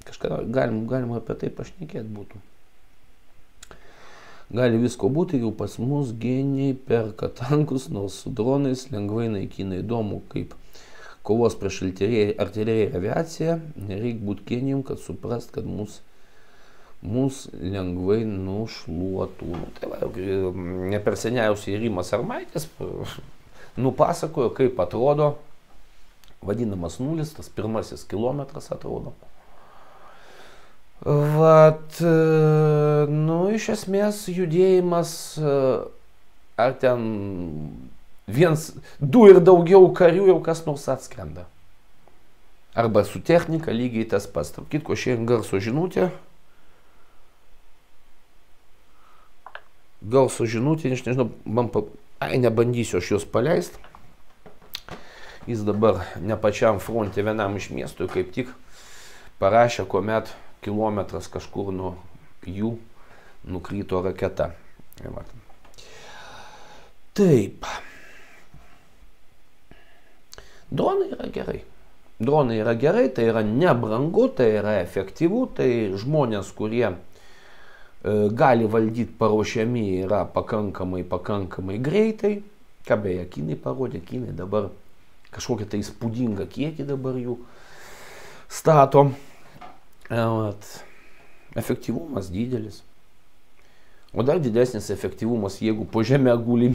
Kažką galima apie tai pašnekėti būtų. Gali visko būti, jau pas mus geniai perka tankus, nors su dronais lengvai naikina. Įdomu, kaip kovos prieš artileriją ir aviaciją. Nereikia būti genijum, kad suprast, kad mus lengvai nušluotų. Tai va, ne per seniausiai Rimas Armaitis nupasakojo, kaip atrodo vadinamas nulis, tas pirmasis kilometras atrodo. Vat, nu, iš esmės judėjimas, ar ten 1, 2 ir daugiau karių jau kas nors atskrenda. Arba su technika lygiai tas pats. Tarp kitko, šiandien garso žinutė. Garso žinutė, aš nežinau, nebandysiu aš jos paleisti. Jis dabar ne pačiam fronte vienam iš miestų, kaip tik parašė, kuomet kilometras kažkur nuo jų nukrito raketa. Taip. Dronai yra gerai. Dronai yra gerai, tai yra nebrangu, tai yra efektyvu, tai žmonės, kurie gali valdyti paruošiami yra pakankamai greitai. Ką beje, kinai parodė, kinai dabar kažkokią tai įspūdingą kiekį dabar jų stato. Efektyvumas didelis. O dar didesnis efektyvumas, jeigu po žemę guli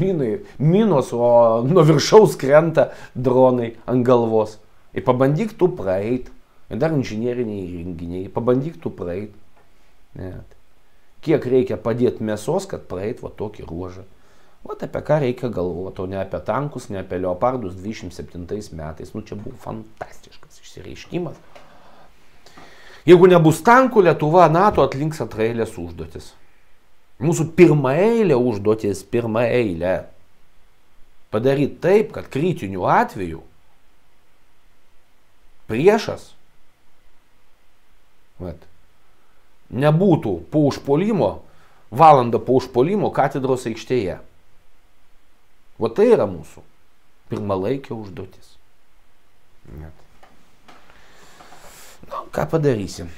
minos, o nuo viršaus krenta dronai ant galvos. Ir pabandyk tu praeit. Ir dar inžinieriniai įrenginiai. Pabandyk tu praeit. Kiek reikia padėti mėsos, kad praeit va tokį ruožą. Vat apie ką reikia galvoti, o ne apie tankus, ne apie leopardus 27 metais. Nu čia buvo fantastiškas išsireiškimas. Jeigu nebus tankų, Lietuva, NATO atlinks antraeilės užduotis. Mūsų pirmaeilė užduotis, pirmaeilė. Padaryti taip, kad kritiniu atveju priešas nebūtų po užpuolimo, valandą po užpuolimo katedros aikštėje. O tai yra mūsų pirmalaikė užduotis. Nu, ką padarysim?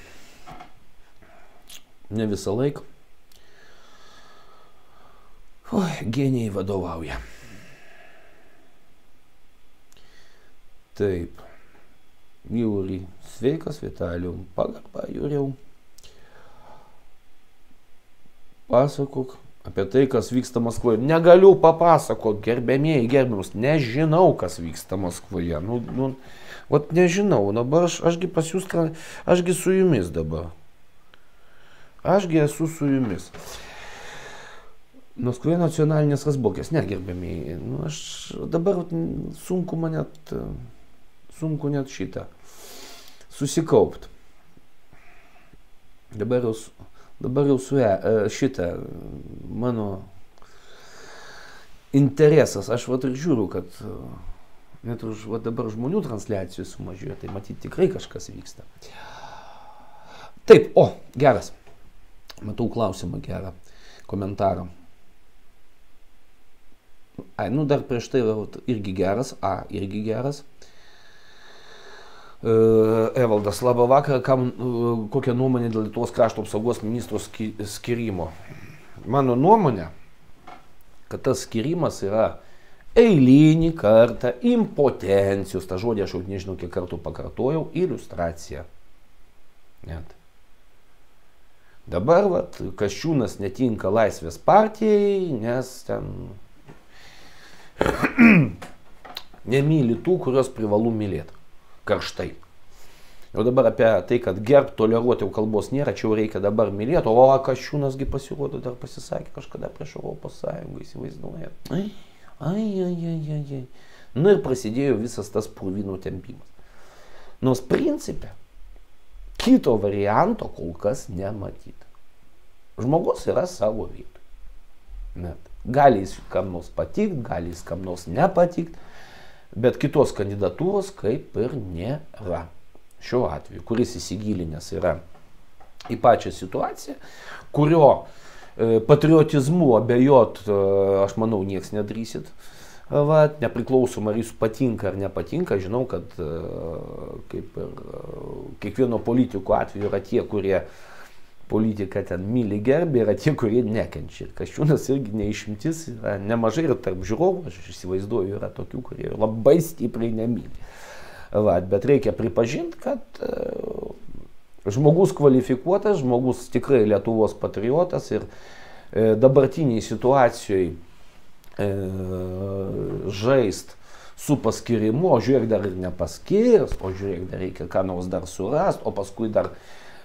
Ne visą laiką. Genijai vadovauja. Taip. Jūri, sveikas, Vitalijau. Pagarba, Jūriau. Pasakok apie tai, kas vyksta Maskvoje. Negaliu papasakot, gerbėmieji, gerbiamus. Nežinau, kas vyksta Maskvoje. Vat nežinau, dabar ašgi pas jūs, ašgi su jumis dabar. Ašgi esu su jumis. Maskvoje nacionalinės razbokės, negerbėmiai. Aš dabar sunku net šitą susikaupt. Dabar jau su šitą mano interesas. Aš vat ir žiūriu, kad net už dabar žmonių transliacijų sumažėjo, tai matyti tikrai kažkas vyksta. Taip, geras. Matau klausimą gerą, komentarą. Dar prieš tai irgi geras, irgi geras. Evaldas, labą vakarą, kokią nuomonę dėl Lietuvos krašto apsaugos ministro skirimo? Mano nuomonė, kad tas skirimas yra eilinį kartą impotencijos, tą žodį aš jau nežinau kiek kartų pakartojau, iliustracija. Dabar Kasčiūnas netinka Laisvės partijai, nes ten nemyli tų, kurios privalu mylėti. Karštai. Jau dabar apie tai, kad gerbt, toleruoti jau kalbos nėra, čia jau reikia dabar mylėti, o Kasčiūnasgi pasirodo dar pasisakė kažkada prieš Europos Sąjungą, įsivaizduoja. Nu ir prasidėjo visas tas purvinų tempimas. Nors principe kito varianto kol kas nematyti. Žmogus yra savo vietoj. Gali jis kam nors patikt, gali jis kam nors nepatikt, bet kitos kandidatūros kaip ir nėra. Šiuo atveju, kuris įsigilinęs yra į pačią situaciją, kurio patriotizmu abejot, aš manau, nieks nedrįsit Vat, nepriklausomai ar jis patinka ar nepatinka, žinau, kad kaip ir kiekvieno politiko atveju yra tie, kurie politiką ten myli gerbė, yra tie, kurie nekenčia. Ir Kasčiūnas irgi neišimtis, yra nemažai ir tarp žiūrovų, aš įsivaizduoju, yra tokių, kurie labai stipriai nemyli. Vat, bet reikia pripažinti, kad žmogus kvalifikuotas, žmogus tikrai Lietuvos patriotas ir dabartiniai situacijoje žaist su paskirimu, o žiūrėk dar ir nepaskirs, o žiūrėk dar reikia ką nors dar surast, o paskui dar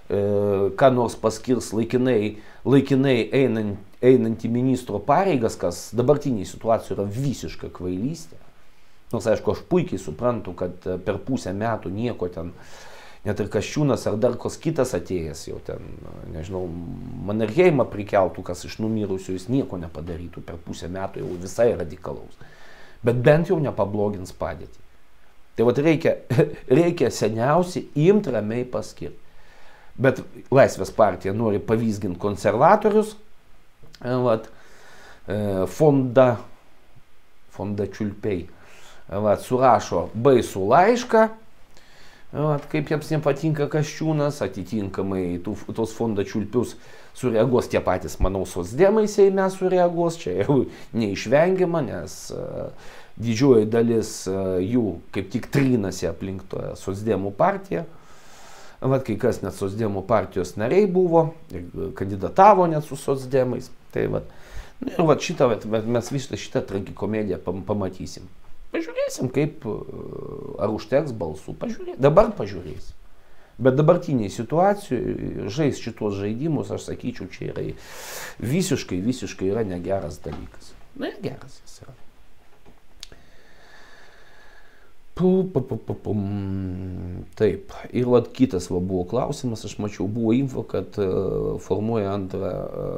ką nors paskirs laikinai einant į ministro pareigas, kas dabartiniai situacijai yra visiška kvailystė. Nors aišku, aš puikiai suprantu, kad per pusę metų nieko ten, net ir Kasčiūnas ar dar kas kitas atėjęs jau ten, nežinau, Mannerheimą prikeltų, kas iš numirusių, jis nieko nepadarytų per pusę metų, jau visai radikalaus. Bet bent jau nepablogins padėtį. Tai vat reikia seniausiai imti ramiai paskirti. Bet Laisvės partija nori pavysginti konservatorius, vat, fonda čiulpiai, vat, surašo baisų laišką, vat, kaip jiems nepatinka Kasčiūnas, atitinkamai tos fonda čiulpius sureaguos tie patys, manau, socdemai Seime sureaguos, čia jau neišvengiama, nes didžioji dalis jų kaip tik trinasi aplink socdemų partiją. Vat, kai kas net socdemų partijos nariai buvo, kandidatavo net su socdemais. Tai vat, ir vat mes visą šitą tragikomediją pamatysim. Pažiūrėsim, kaip, ar užteks balsų, dabar pažiūrėsim. Bet dabartiniai situacijai žais šitos žaidimus, aš sakyčiau, čia yra visiškai yra negeras dalykas. Negeras jis yra. Taip, ir vat kitas buvo klausimas, aš mačiau, buvo info, kad formuoja antrą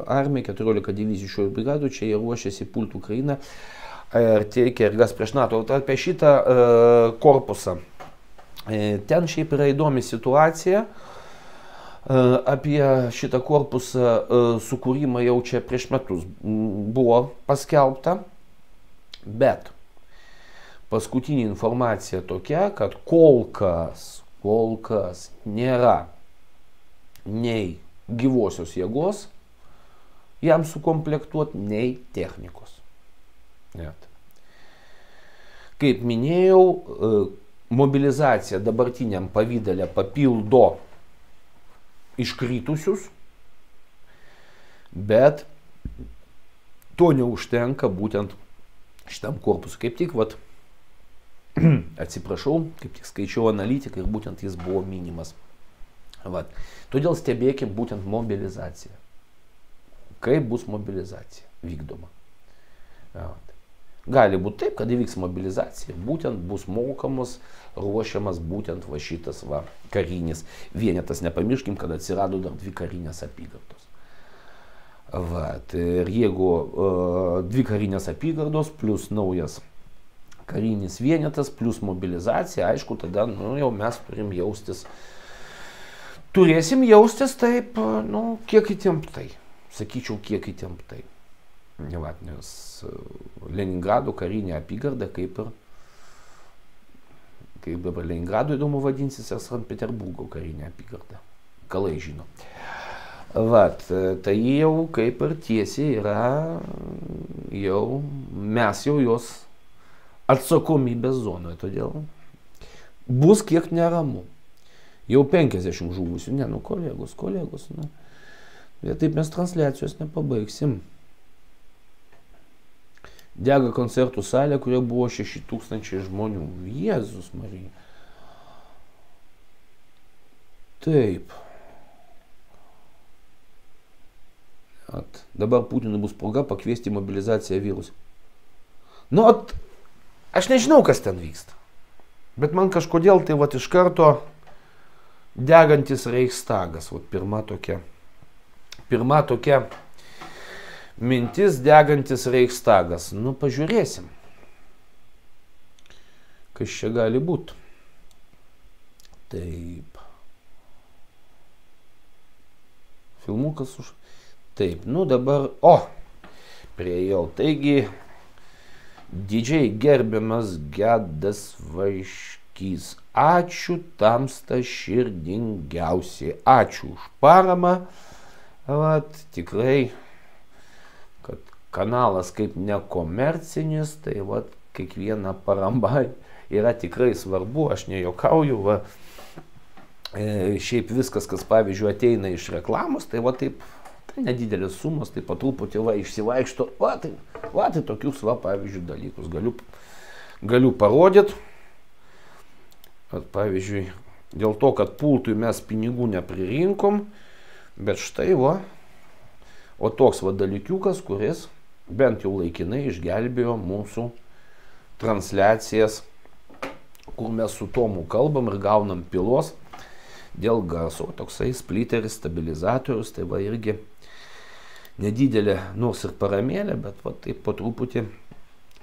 armiją, 14 divizijų šio brigadų, čia jie ruošiasi pulti Ukrainą ir teikia ergas prieš NATO. Apie šitą korpusą, ten šiaip yra įdomi situacija, apie šitą korpusą sukūrimą jau čia prieš metus buvo paskelbta, bet paskutinė informacija tokia, kad kol kas nėra nei gyvosios jėgos jam sukomplektuoti, nei technikos. Net. Kaip minėjau, mobilizacija dabartiniam pavydale papildo iškritusius, bet to neužtenka būtent šitam korpusui. Kaip tik, vat, atsiprašau, kaip tik skaičiau analitiką ir būtent jis buvo minimas. Vat. Todėl stebėkim būtent mobilizaciją. Kaip bus mobilizacija vykdoma. Vat. Gali būti taip, kad įvyks mobilizacija, būtent bus mokamos, ruošiamas būtent va šitas va karinis vienetas. Nepamirškim, kad atsirado dar 2 karinės apygardos. Vat. Ir jeigu 2 karinės apygardos plus naujas karinis vienetas plus mobilizacija, aišku, tada jau mes turėsim jaustis taip, kiek įtemptai. Sakyčiau, kiek įtemptai. Nes Leningrado karinė apygarda, kaip dabar Leningrado įdomu vadinsis, ar Sankt Peterburgo karinė apygarda. Kalai žino. Vat, tai jau kaip ir tiesiai yra, mes jau jos atsakomybės zonoje, todėl bus kiek neramu. Jau 50 žuvusių, kolegos, bet taip mes transliacijos nepabaigsim. Dega koncertų salė, kurioje buvo 6000 žmonių. Jėzus Marija. Taip. Dabar Putinui bus proga pakviesti mobilizaciją vyrus. Aš nežinau, kas ten vyksta. Bet man kažkodėl tai iš karto degantis Reichstagas. Pirma tokia mintis, degantis Reichstagas. Pažiūrėsim. Kas čia gali būti. Taip. Filmukas už... Taip, dabar... Priejau. Taigi, Didžiai gerbiamas Gedas Vaiškys. Ačiū tamsta širdingiausiai. Ačiū už paramą. Vat, tikrai, kad kanalas kaip nekomercinis, tai vat, kiekviena parama yra tikrai svarbu, aš nejuokauju, va. Šiaip viskas, kas pavyzdžiui ateina iš reklamos, tai va taip, tai nedidelės sumos, tai po truputį va išsivaikšto, va tai tokius va pavyzdžiui dalykus galiu parodyti. Pavyzdžiui, dėl to, kad pultui mes pinigų nepririnkom, bet štai va, o toks va dalykiukas, kuris bent jau laikinai išgelbėjo mūsų transliacijas, kur mes su Tomu kalbam ir gaunam pilos dėl garso. Toksai splitteris, stabilizatorius, tai va irgi nedidelė, nors ir paramėlė, bet va taip po truputį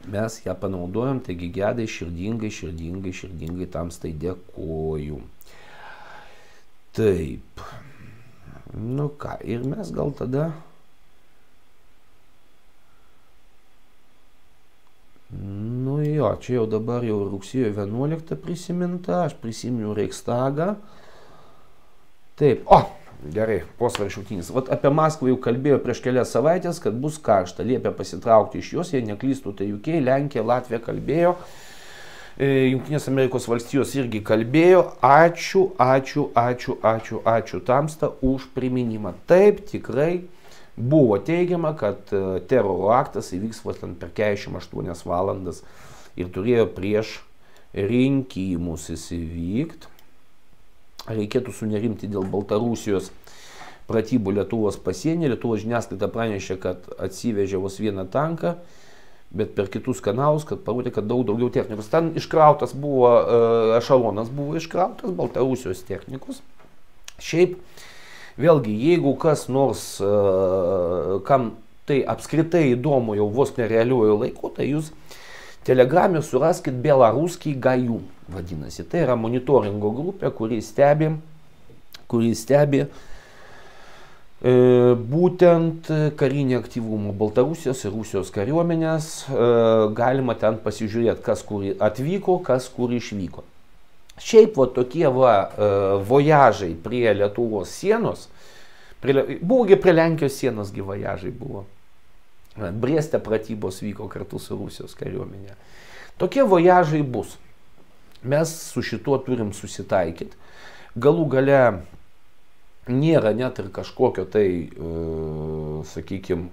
mes ją panaudojam, taigi Gedai širdingai tamstai dėkoju. Taip, nu ką, ir mes gal tada nu jo, čia jau dabar jau rugsėjo 11 prisiminta, aš prisiminiau Reichstagą. Taip, gerai, posvaršautinis. Vat apie Maskvą jau kalbėjo prieš kelias savaitės, kad bus karšta, liepia pasitraukti iš jos, jei neklystų, tai UK, Lenkija, Latvija kalbėjo, Jungtinės Amerikos valstijos irgi kalbėjo. Ačiū tamsta už priminimą. Taip, tikrai buvo teigiama, kad teroro aktas įvyks per 48 valandas ir turėjo prieš rinkimus įvykti. Reikėtų sunerimti dėl Baltarusijos pratybų Lietuvos pasienį. Lietuvos žiniasklaida pranešė, kad atsivežė vos vieną tanką, bet per kitus kanalus, kad parodė, kad daug daugiau technikos. Ten iškrautas buvo, ešalonas buvo iškrautas, Baltarusijos technikos. Šiaip, vėlgi, jeigu kas nors, kam tai apskritai įdomu jau vos nerealiuoju laiku, tai jūs Telegram'e suraskit Belaruskiai Gajų, vadinasi. Tai yra monitoringo grupė, kuri stebi būtent karinį aktyvumą Baltarusijos ir Rusijos kariuomenės. Galima ten pasižiūrėti, kas kur atvyko, kas kur išvyko. Šiaip va tokie vojažai prie Lietuvos sienos, buvogi prie Lenkijos sienos vojažai buvo. Brieste pratybos vyko kartu su Rusijos kariuomenė. Tokie vojažai bus. Mes su šituo turim susitaikyti. Galų gale nėra net ir kažkokio tai, sakykime,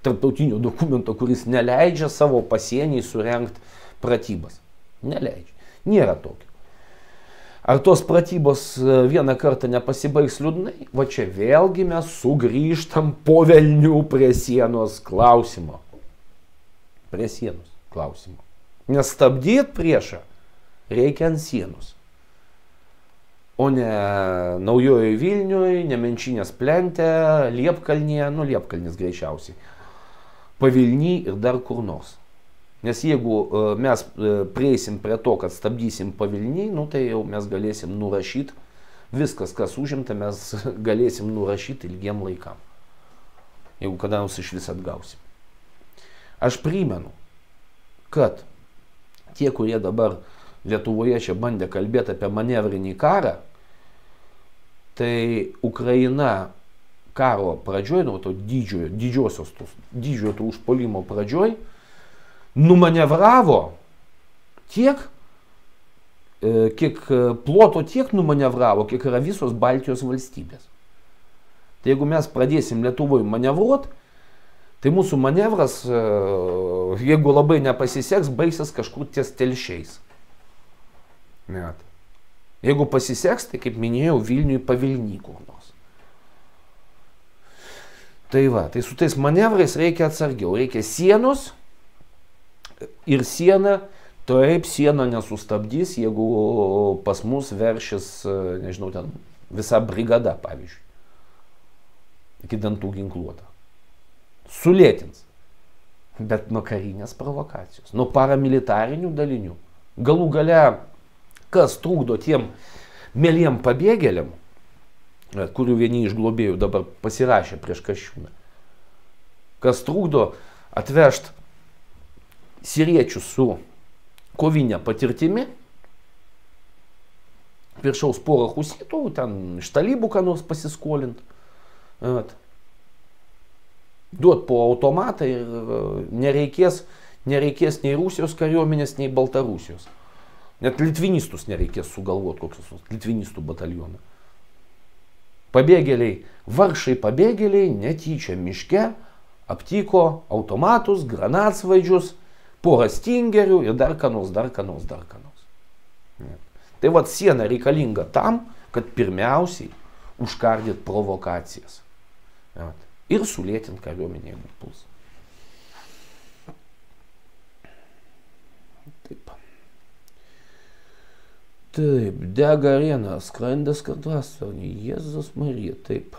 tarptautinio dokumento, kuris neleidžia savo pasienį surengti pratybas. Neleidžia. Nėra tokio. Ar tos pratybos vieną kartą nepasibaigs liūdnai? Va čia vėlgi mes sugrįžtam po velnių prie sienos klausimo. Prie sienos klausimo. Nes stabdyti priešą reikia ant sienos. O ne Naujojoje Vilniuje, Nemenčinės plente, Liepkalnyje, nu Liepkalnis greičiausiai, Pavilny ir dar kur nors. Nes jeigu mes prieisim prie to, kad stabdysim Pavilny, nu tai jau mes galėsim nurašyti, viskas, kas užimta, mes galėsim nurašyti ilgiem laikam. Jeigu kada nors iš vis atgausim. Aš primenu, kad tie, kurie dabar Lietuvoje čia bandė kalbėti apie manevrinį karą, tai Ukraina karo pradžioj, nu to didžiojo to užpuolimo pradžioj, numanevravo tiek, kiek ploto tiek numanevravo, kiek yra visos Baltijos valstybės. Tai jeigu mes pradėsim Lietuvoje manevruoti, tai mūsų manevras, jeigu labai nepasiseks, baigsis kažkur ties Telšiais. Net. Jeigu pasiseks, tai kaip minėjau, Vilniui Pavilny kur nors. Tai va, tai su tais manevrais reikia atsargiau, reikia sienos. Ir siena, taip siena nesustabdys, jeigu pas mus veršis, nežinau, ten visa brigada, pavyzdžiui, iki dantų ginkluota. Sulėtins, bet nuo karinės provokacijos, nuo paramilitarinių dalinių. Galų gale, kas trukdo tiem mėliem pabėgėliam, kurių vieni iš globėjų dabar pasirašė prieš Kasčiūną, kas trukdo atvežti siriečių su kovinė patirtimi, viršaus porą husitų, ten iš talybų ką nors pasiskolint, duot po automatą ir nereikės nei Rusijos kariuomenės, nei Baltarusijos. Net litvinistus nereikės sugalvoti, kokius litvinistų batalioną. Pabėgėliai, vargšai pabėgėliai netyčia miške aptiko automatus, granatsvaidžius, porą stingerių ir dar ką nors. Tai vat siena reikalinga tam, kad pirmiausiai užkardyt provokacijas. Ir sulėtint kariuomenę, jeigu puls. Taip, dega arena, skrandės kartastornį, Jėzus Marija, taip.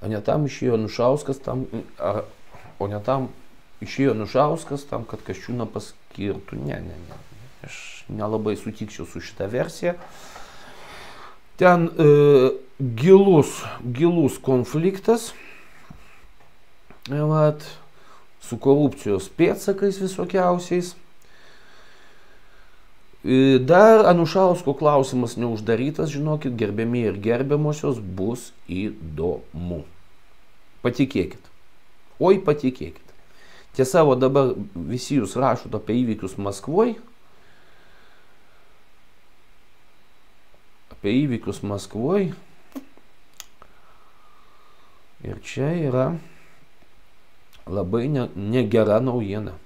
O ne tam išėjo Anušauskas tam, kad Kasčiūną paskirtų. Ne. Aš nelabai sutikčiau su šitą versiją. Ten gilus konfliktas. Su korupcijos pėdsakais visokiausiais. Dar Anušausko klausimas neuždarytas, žinokit, gerbiami ir gerbiamosios, bus įdomu. Patikėkit. Oi, patikėkit. Tiesa, o dabar visi jūs rašot apie įvykius Maskvoj. Ir čia yra labai negera naujiena.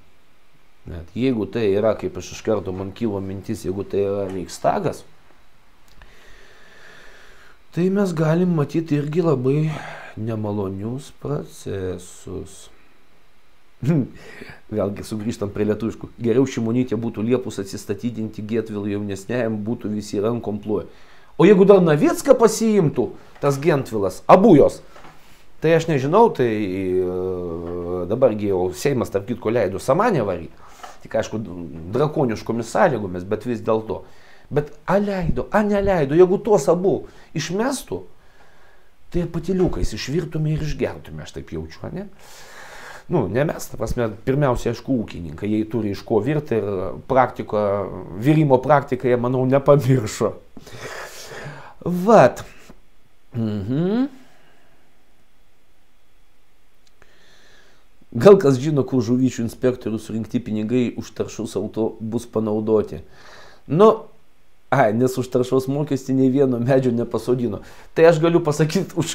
Net jeigu tai yra, kaip aš iš karto man kilo mintis, jeigu tai yra Reichstagas, tai mes galim matyti irgi labai nemalonius procesus. Vėlgi sugrįžtam prie lietuviškų. Geriau Šimonytė būtų liepus atsistatydinti Gentvilui jaunesniajam, būtų visi rankom ploję. O jeigu dar Navicką pasiimtų, tas Gentvilas, abu jos, tai aš nežinau, tai dabargi jau Seimas tarp kitko leido Samanę varyti. Tik aišku, drakoniškomis sąlygomis, bet vis dėlto. Bet leido, neleido, jeigu tuos abu išmestų, tai patyliukais išvirtume ir išgertume, aš taip jaučiu, ne? Ne mes, ta prasme, pirmiausia, aišku, ūkininkai, jie turi iš ko virti ir virimo praktiką jie, manau, nepamiršo. Vat. Gal kas žino, kur žuvyčių inspektorių surinkti pinigai už taršos auto bus panaudoti. Nes už taršos mokestį nei vieno medžio nepasodino. Tai aš galiu pasakyti už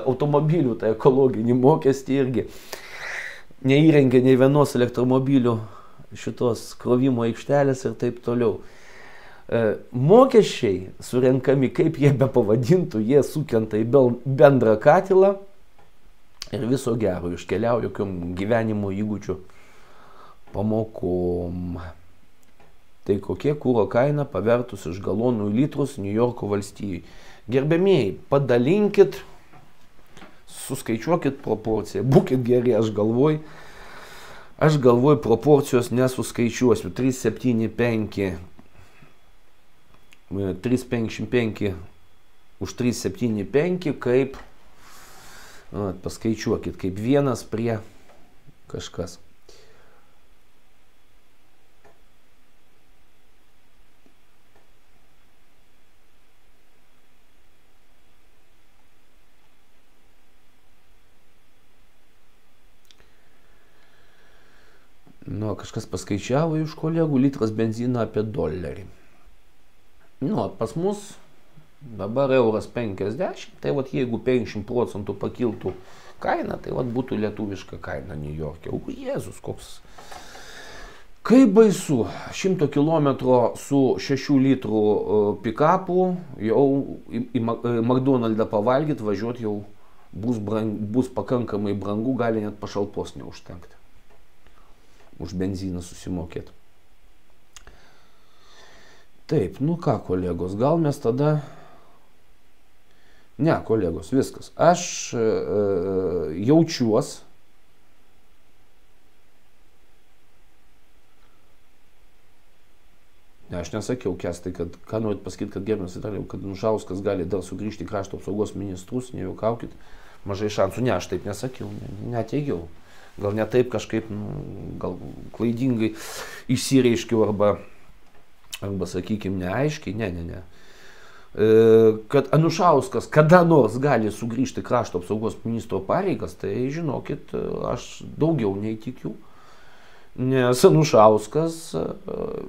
automobilių, tai ekologinį mokestį irgi. Neįrengė nei vienos elektromobilių šitos krovimo aikštelės ir taip toliau. Mokesčiai surenkami, kaip jie be pavadintų, jie sukrenta į bendrą katilą. Ir viso gero iškeliauja jokiom gyvenimo įgūdžių pamokom. Tai kokie kuro kaina pavertus iš galonų į litrus New Yorko valstijai. Gerbėmieji, padalinkit, suskaičiuokit proporciją. Būkit geri, aš galvoju proporcijos nesuskaičiuosiu. 3,75 už 3,75 kaip... Paskaičiuokit, kaip 1 prie kažkas. Kažkas paskaičiavo iš kolegų, litras benzino apie $1. Pas mus dabar €50, tai jeigu 50% pakiltų kaina, tai būtų lietuviška kaina New York'e. O Jėzus, koks. Kaip baisu, 100 km su 6 litrų pikapu, jau į McDonald'ą pavalgyti, važiuoti jau bus pakankamai brangu, gali net pašalpos neužtenkti. Už benziną susimokėti. Taip, ką, kolegos, gal mes tada... Ne, kolegos, viskas. Aš jaučiuos, aš nesakiau, Kęstai, kad ką norit pasakyti, kad gerbiamas Vitalijau, kad Anušauskas gali dar sugrįžti į krašto apsaugos ministrus, nejuokaukit, mažai šansų. Ne, aš taip nesakiau, neteigiau. Gal ne taip kažkaip, gal klaidingai išsireiškiau arba sakykime, neaiškiai, ne. Kad Anušauskas kada nors gali sugrįžti krašto apsaugos ministro pareigas, tai žinokit, aš daugiau nei tikiu. Nes Anušauskas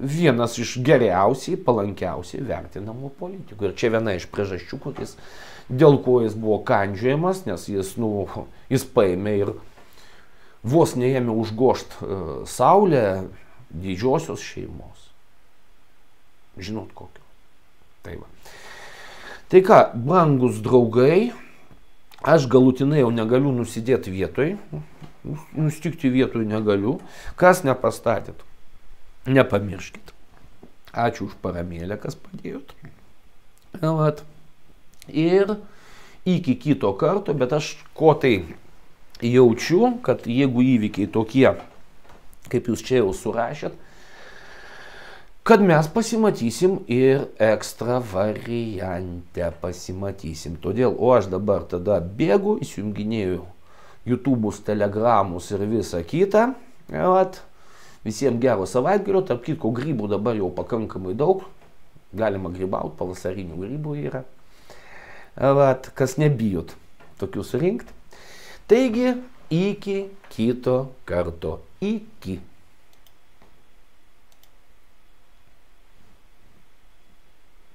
vienas iš geriausiai, palankiausiai vertinamų politikų. Ir čia viena iš priežasčių, dėl ko jis buvo kandžiojamas, nes jis paėmė ir vos neėmė užgošt saulę didžiosios šeimos. Žinot kokio. Tai va. Tai ką, brangus draugai, aš galutinai jau negaliu nusidėti vietoj, nustikti vietoj negaliu. Kas nepastatėt, nepamirškit. Ačiū už paramėlę, kas padėjot. Ir iki kito karto, bet aš ko tai jaučiu, kad jeigu įvykiai tokie, kaip jūs čia jau surašėt, kad mes pasimatysim ir ekstra variante pasimatysim. Todėl, o aš dabar tada bėgu, įsijunginėju YouTube'us, Telegramus ir visą kitą. Visiems gero savaitgalio, tarp kitko grybų dabar jau pakankamai daug. Galima grybauti, pavasarinių grybų yra. Kas nebijot tokius rinkti. Taigi, iki kito karto. Iki.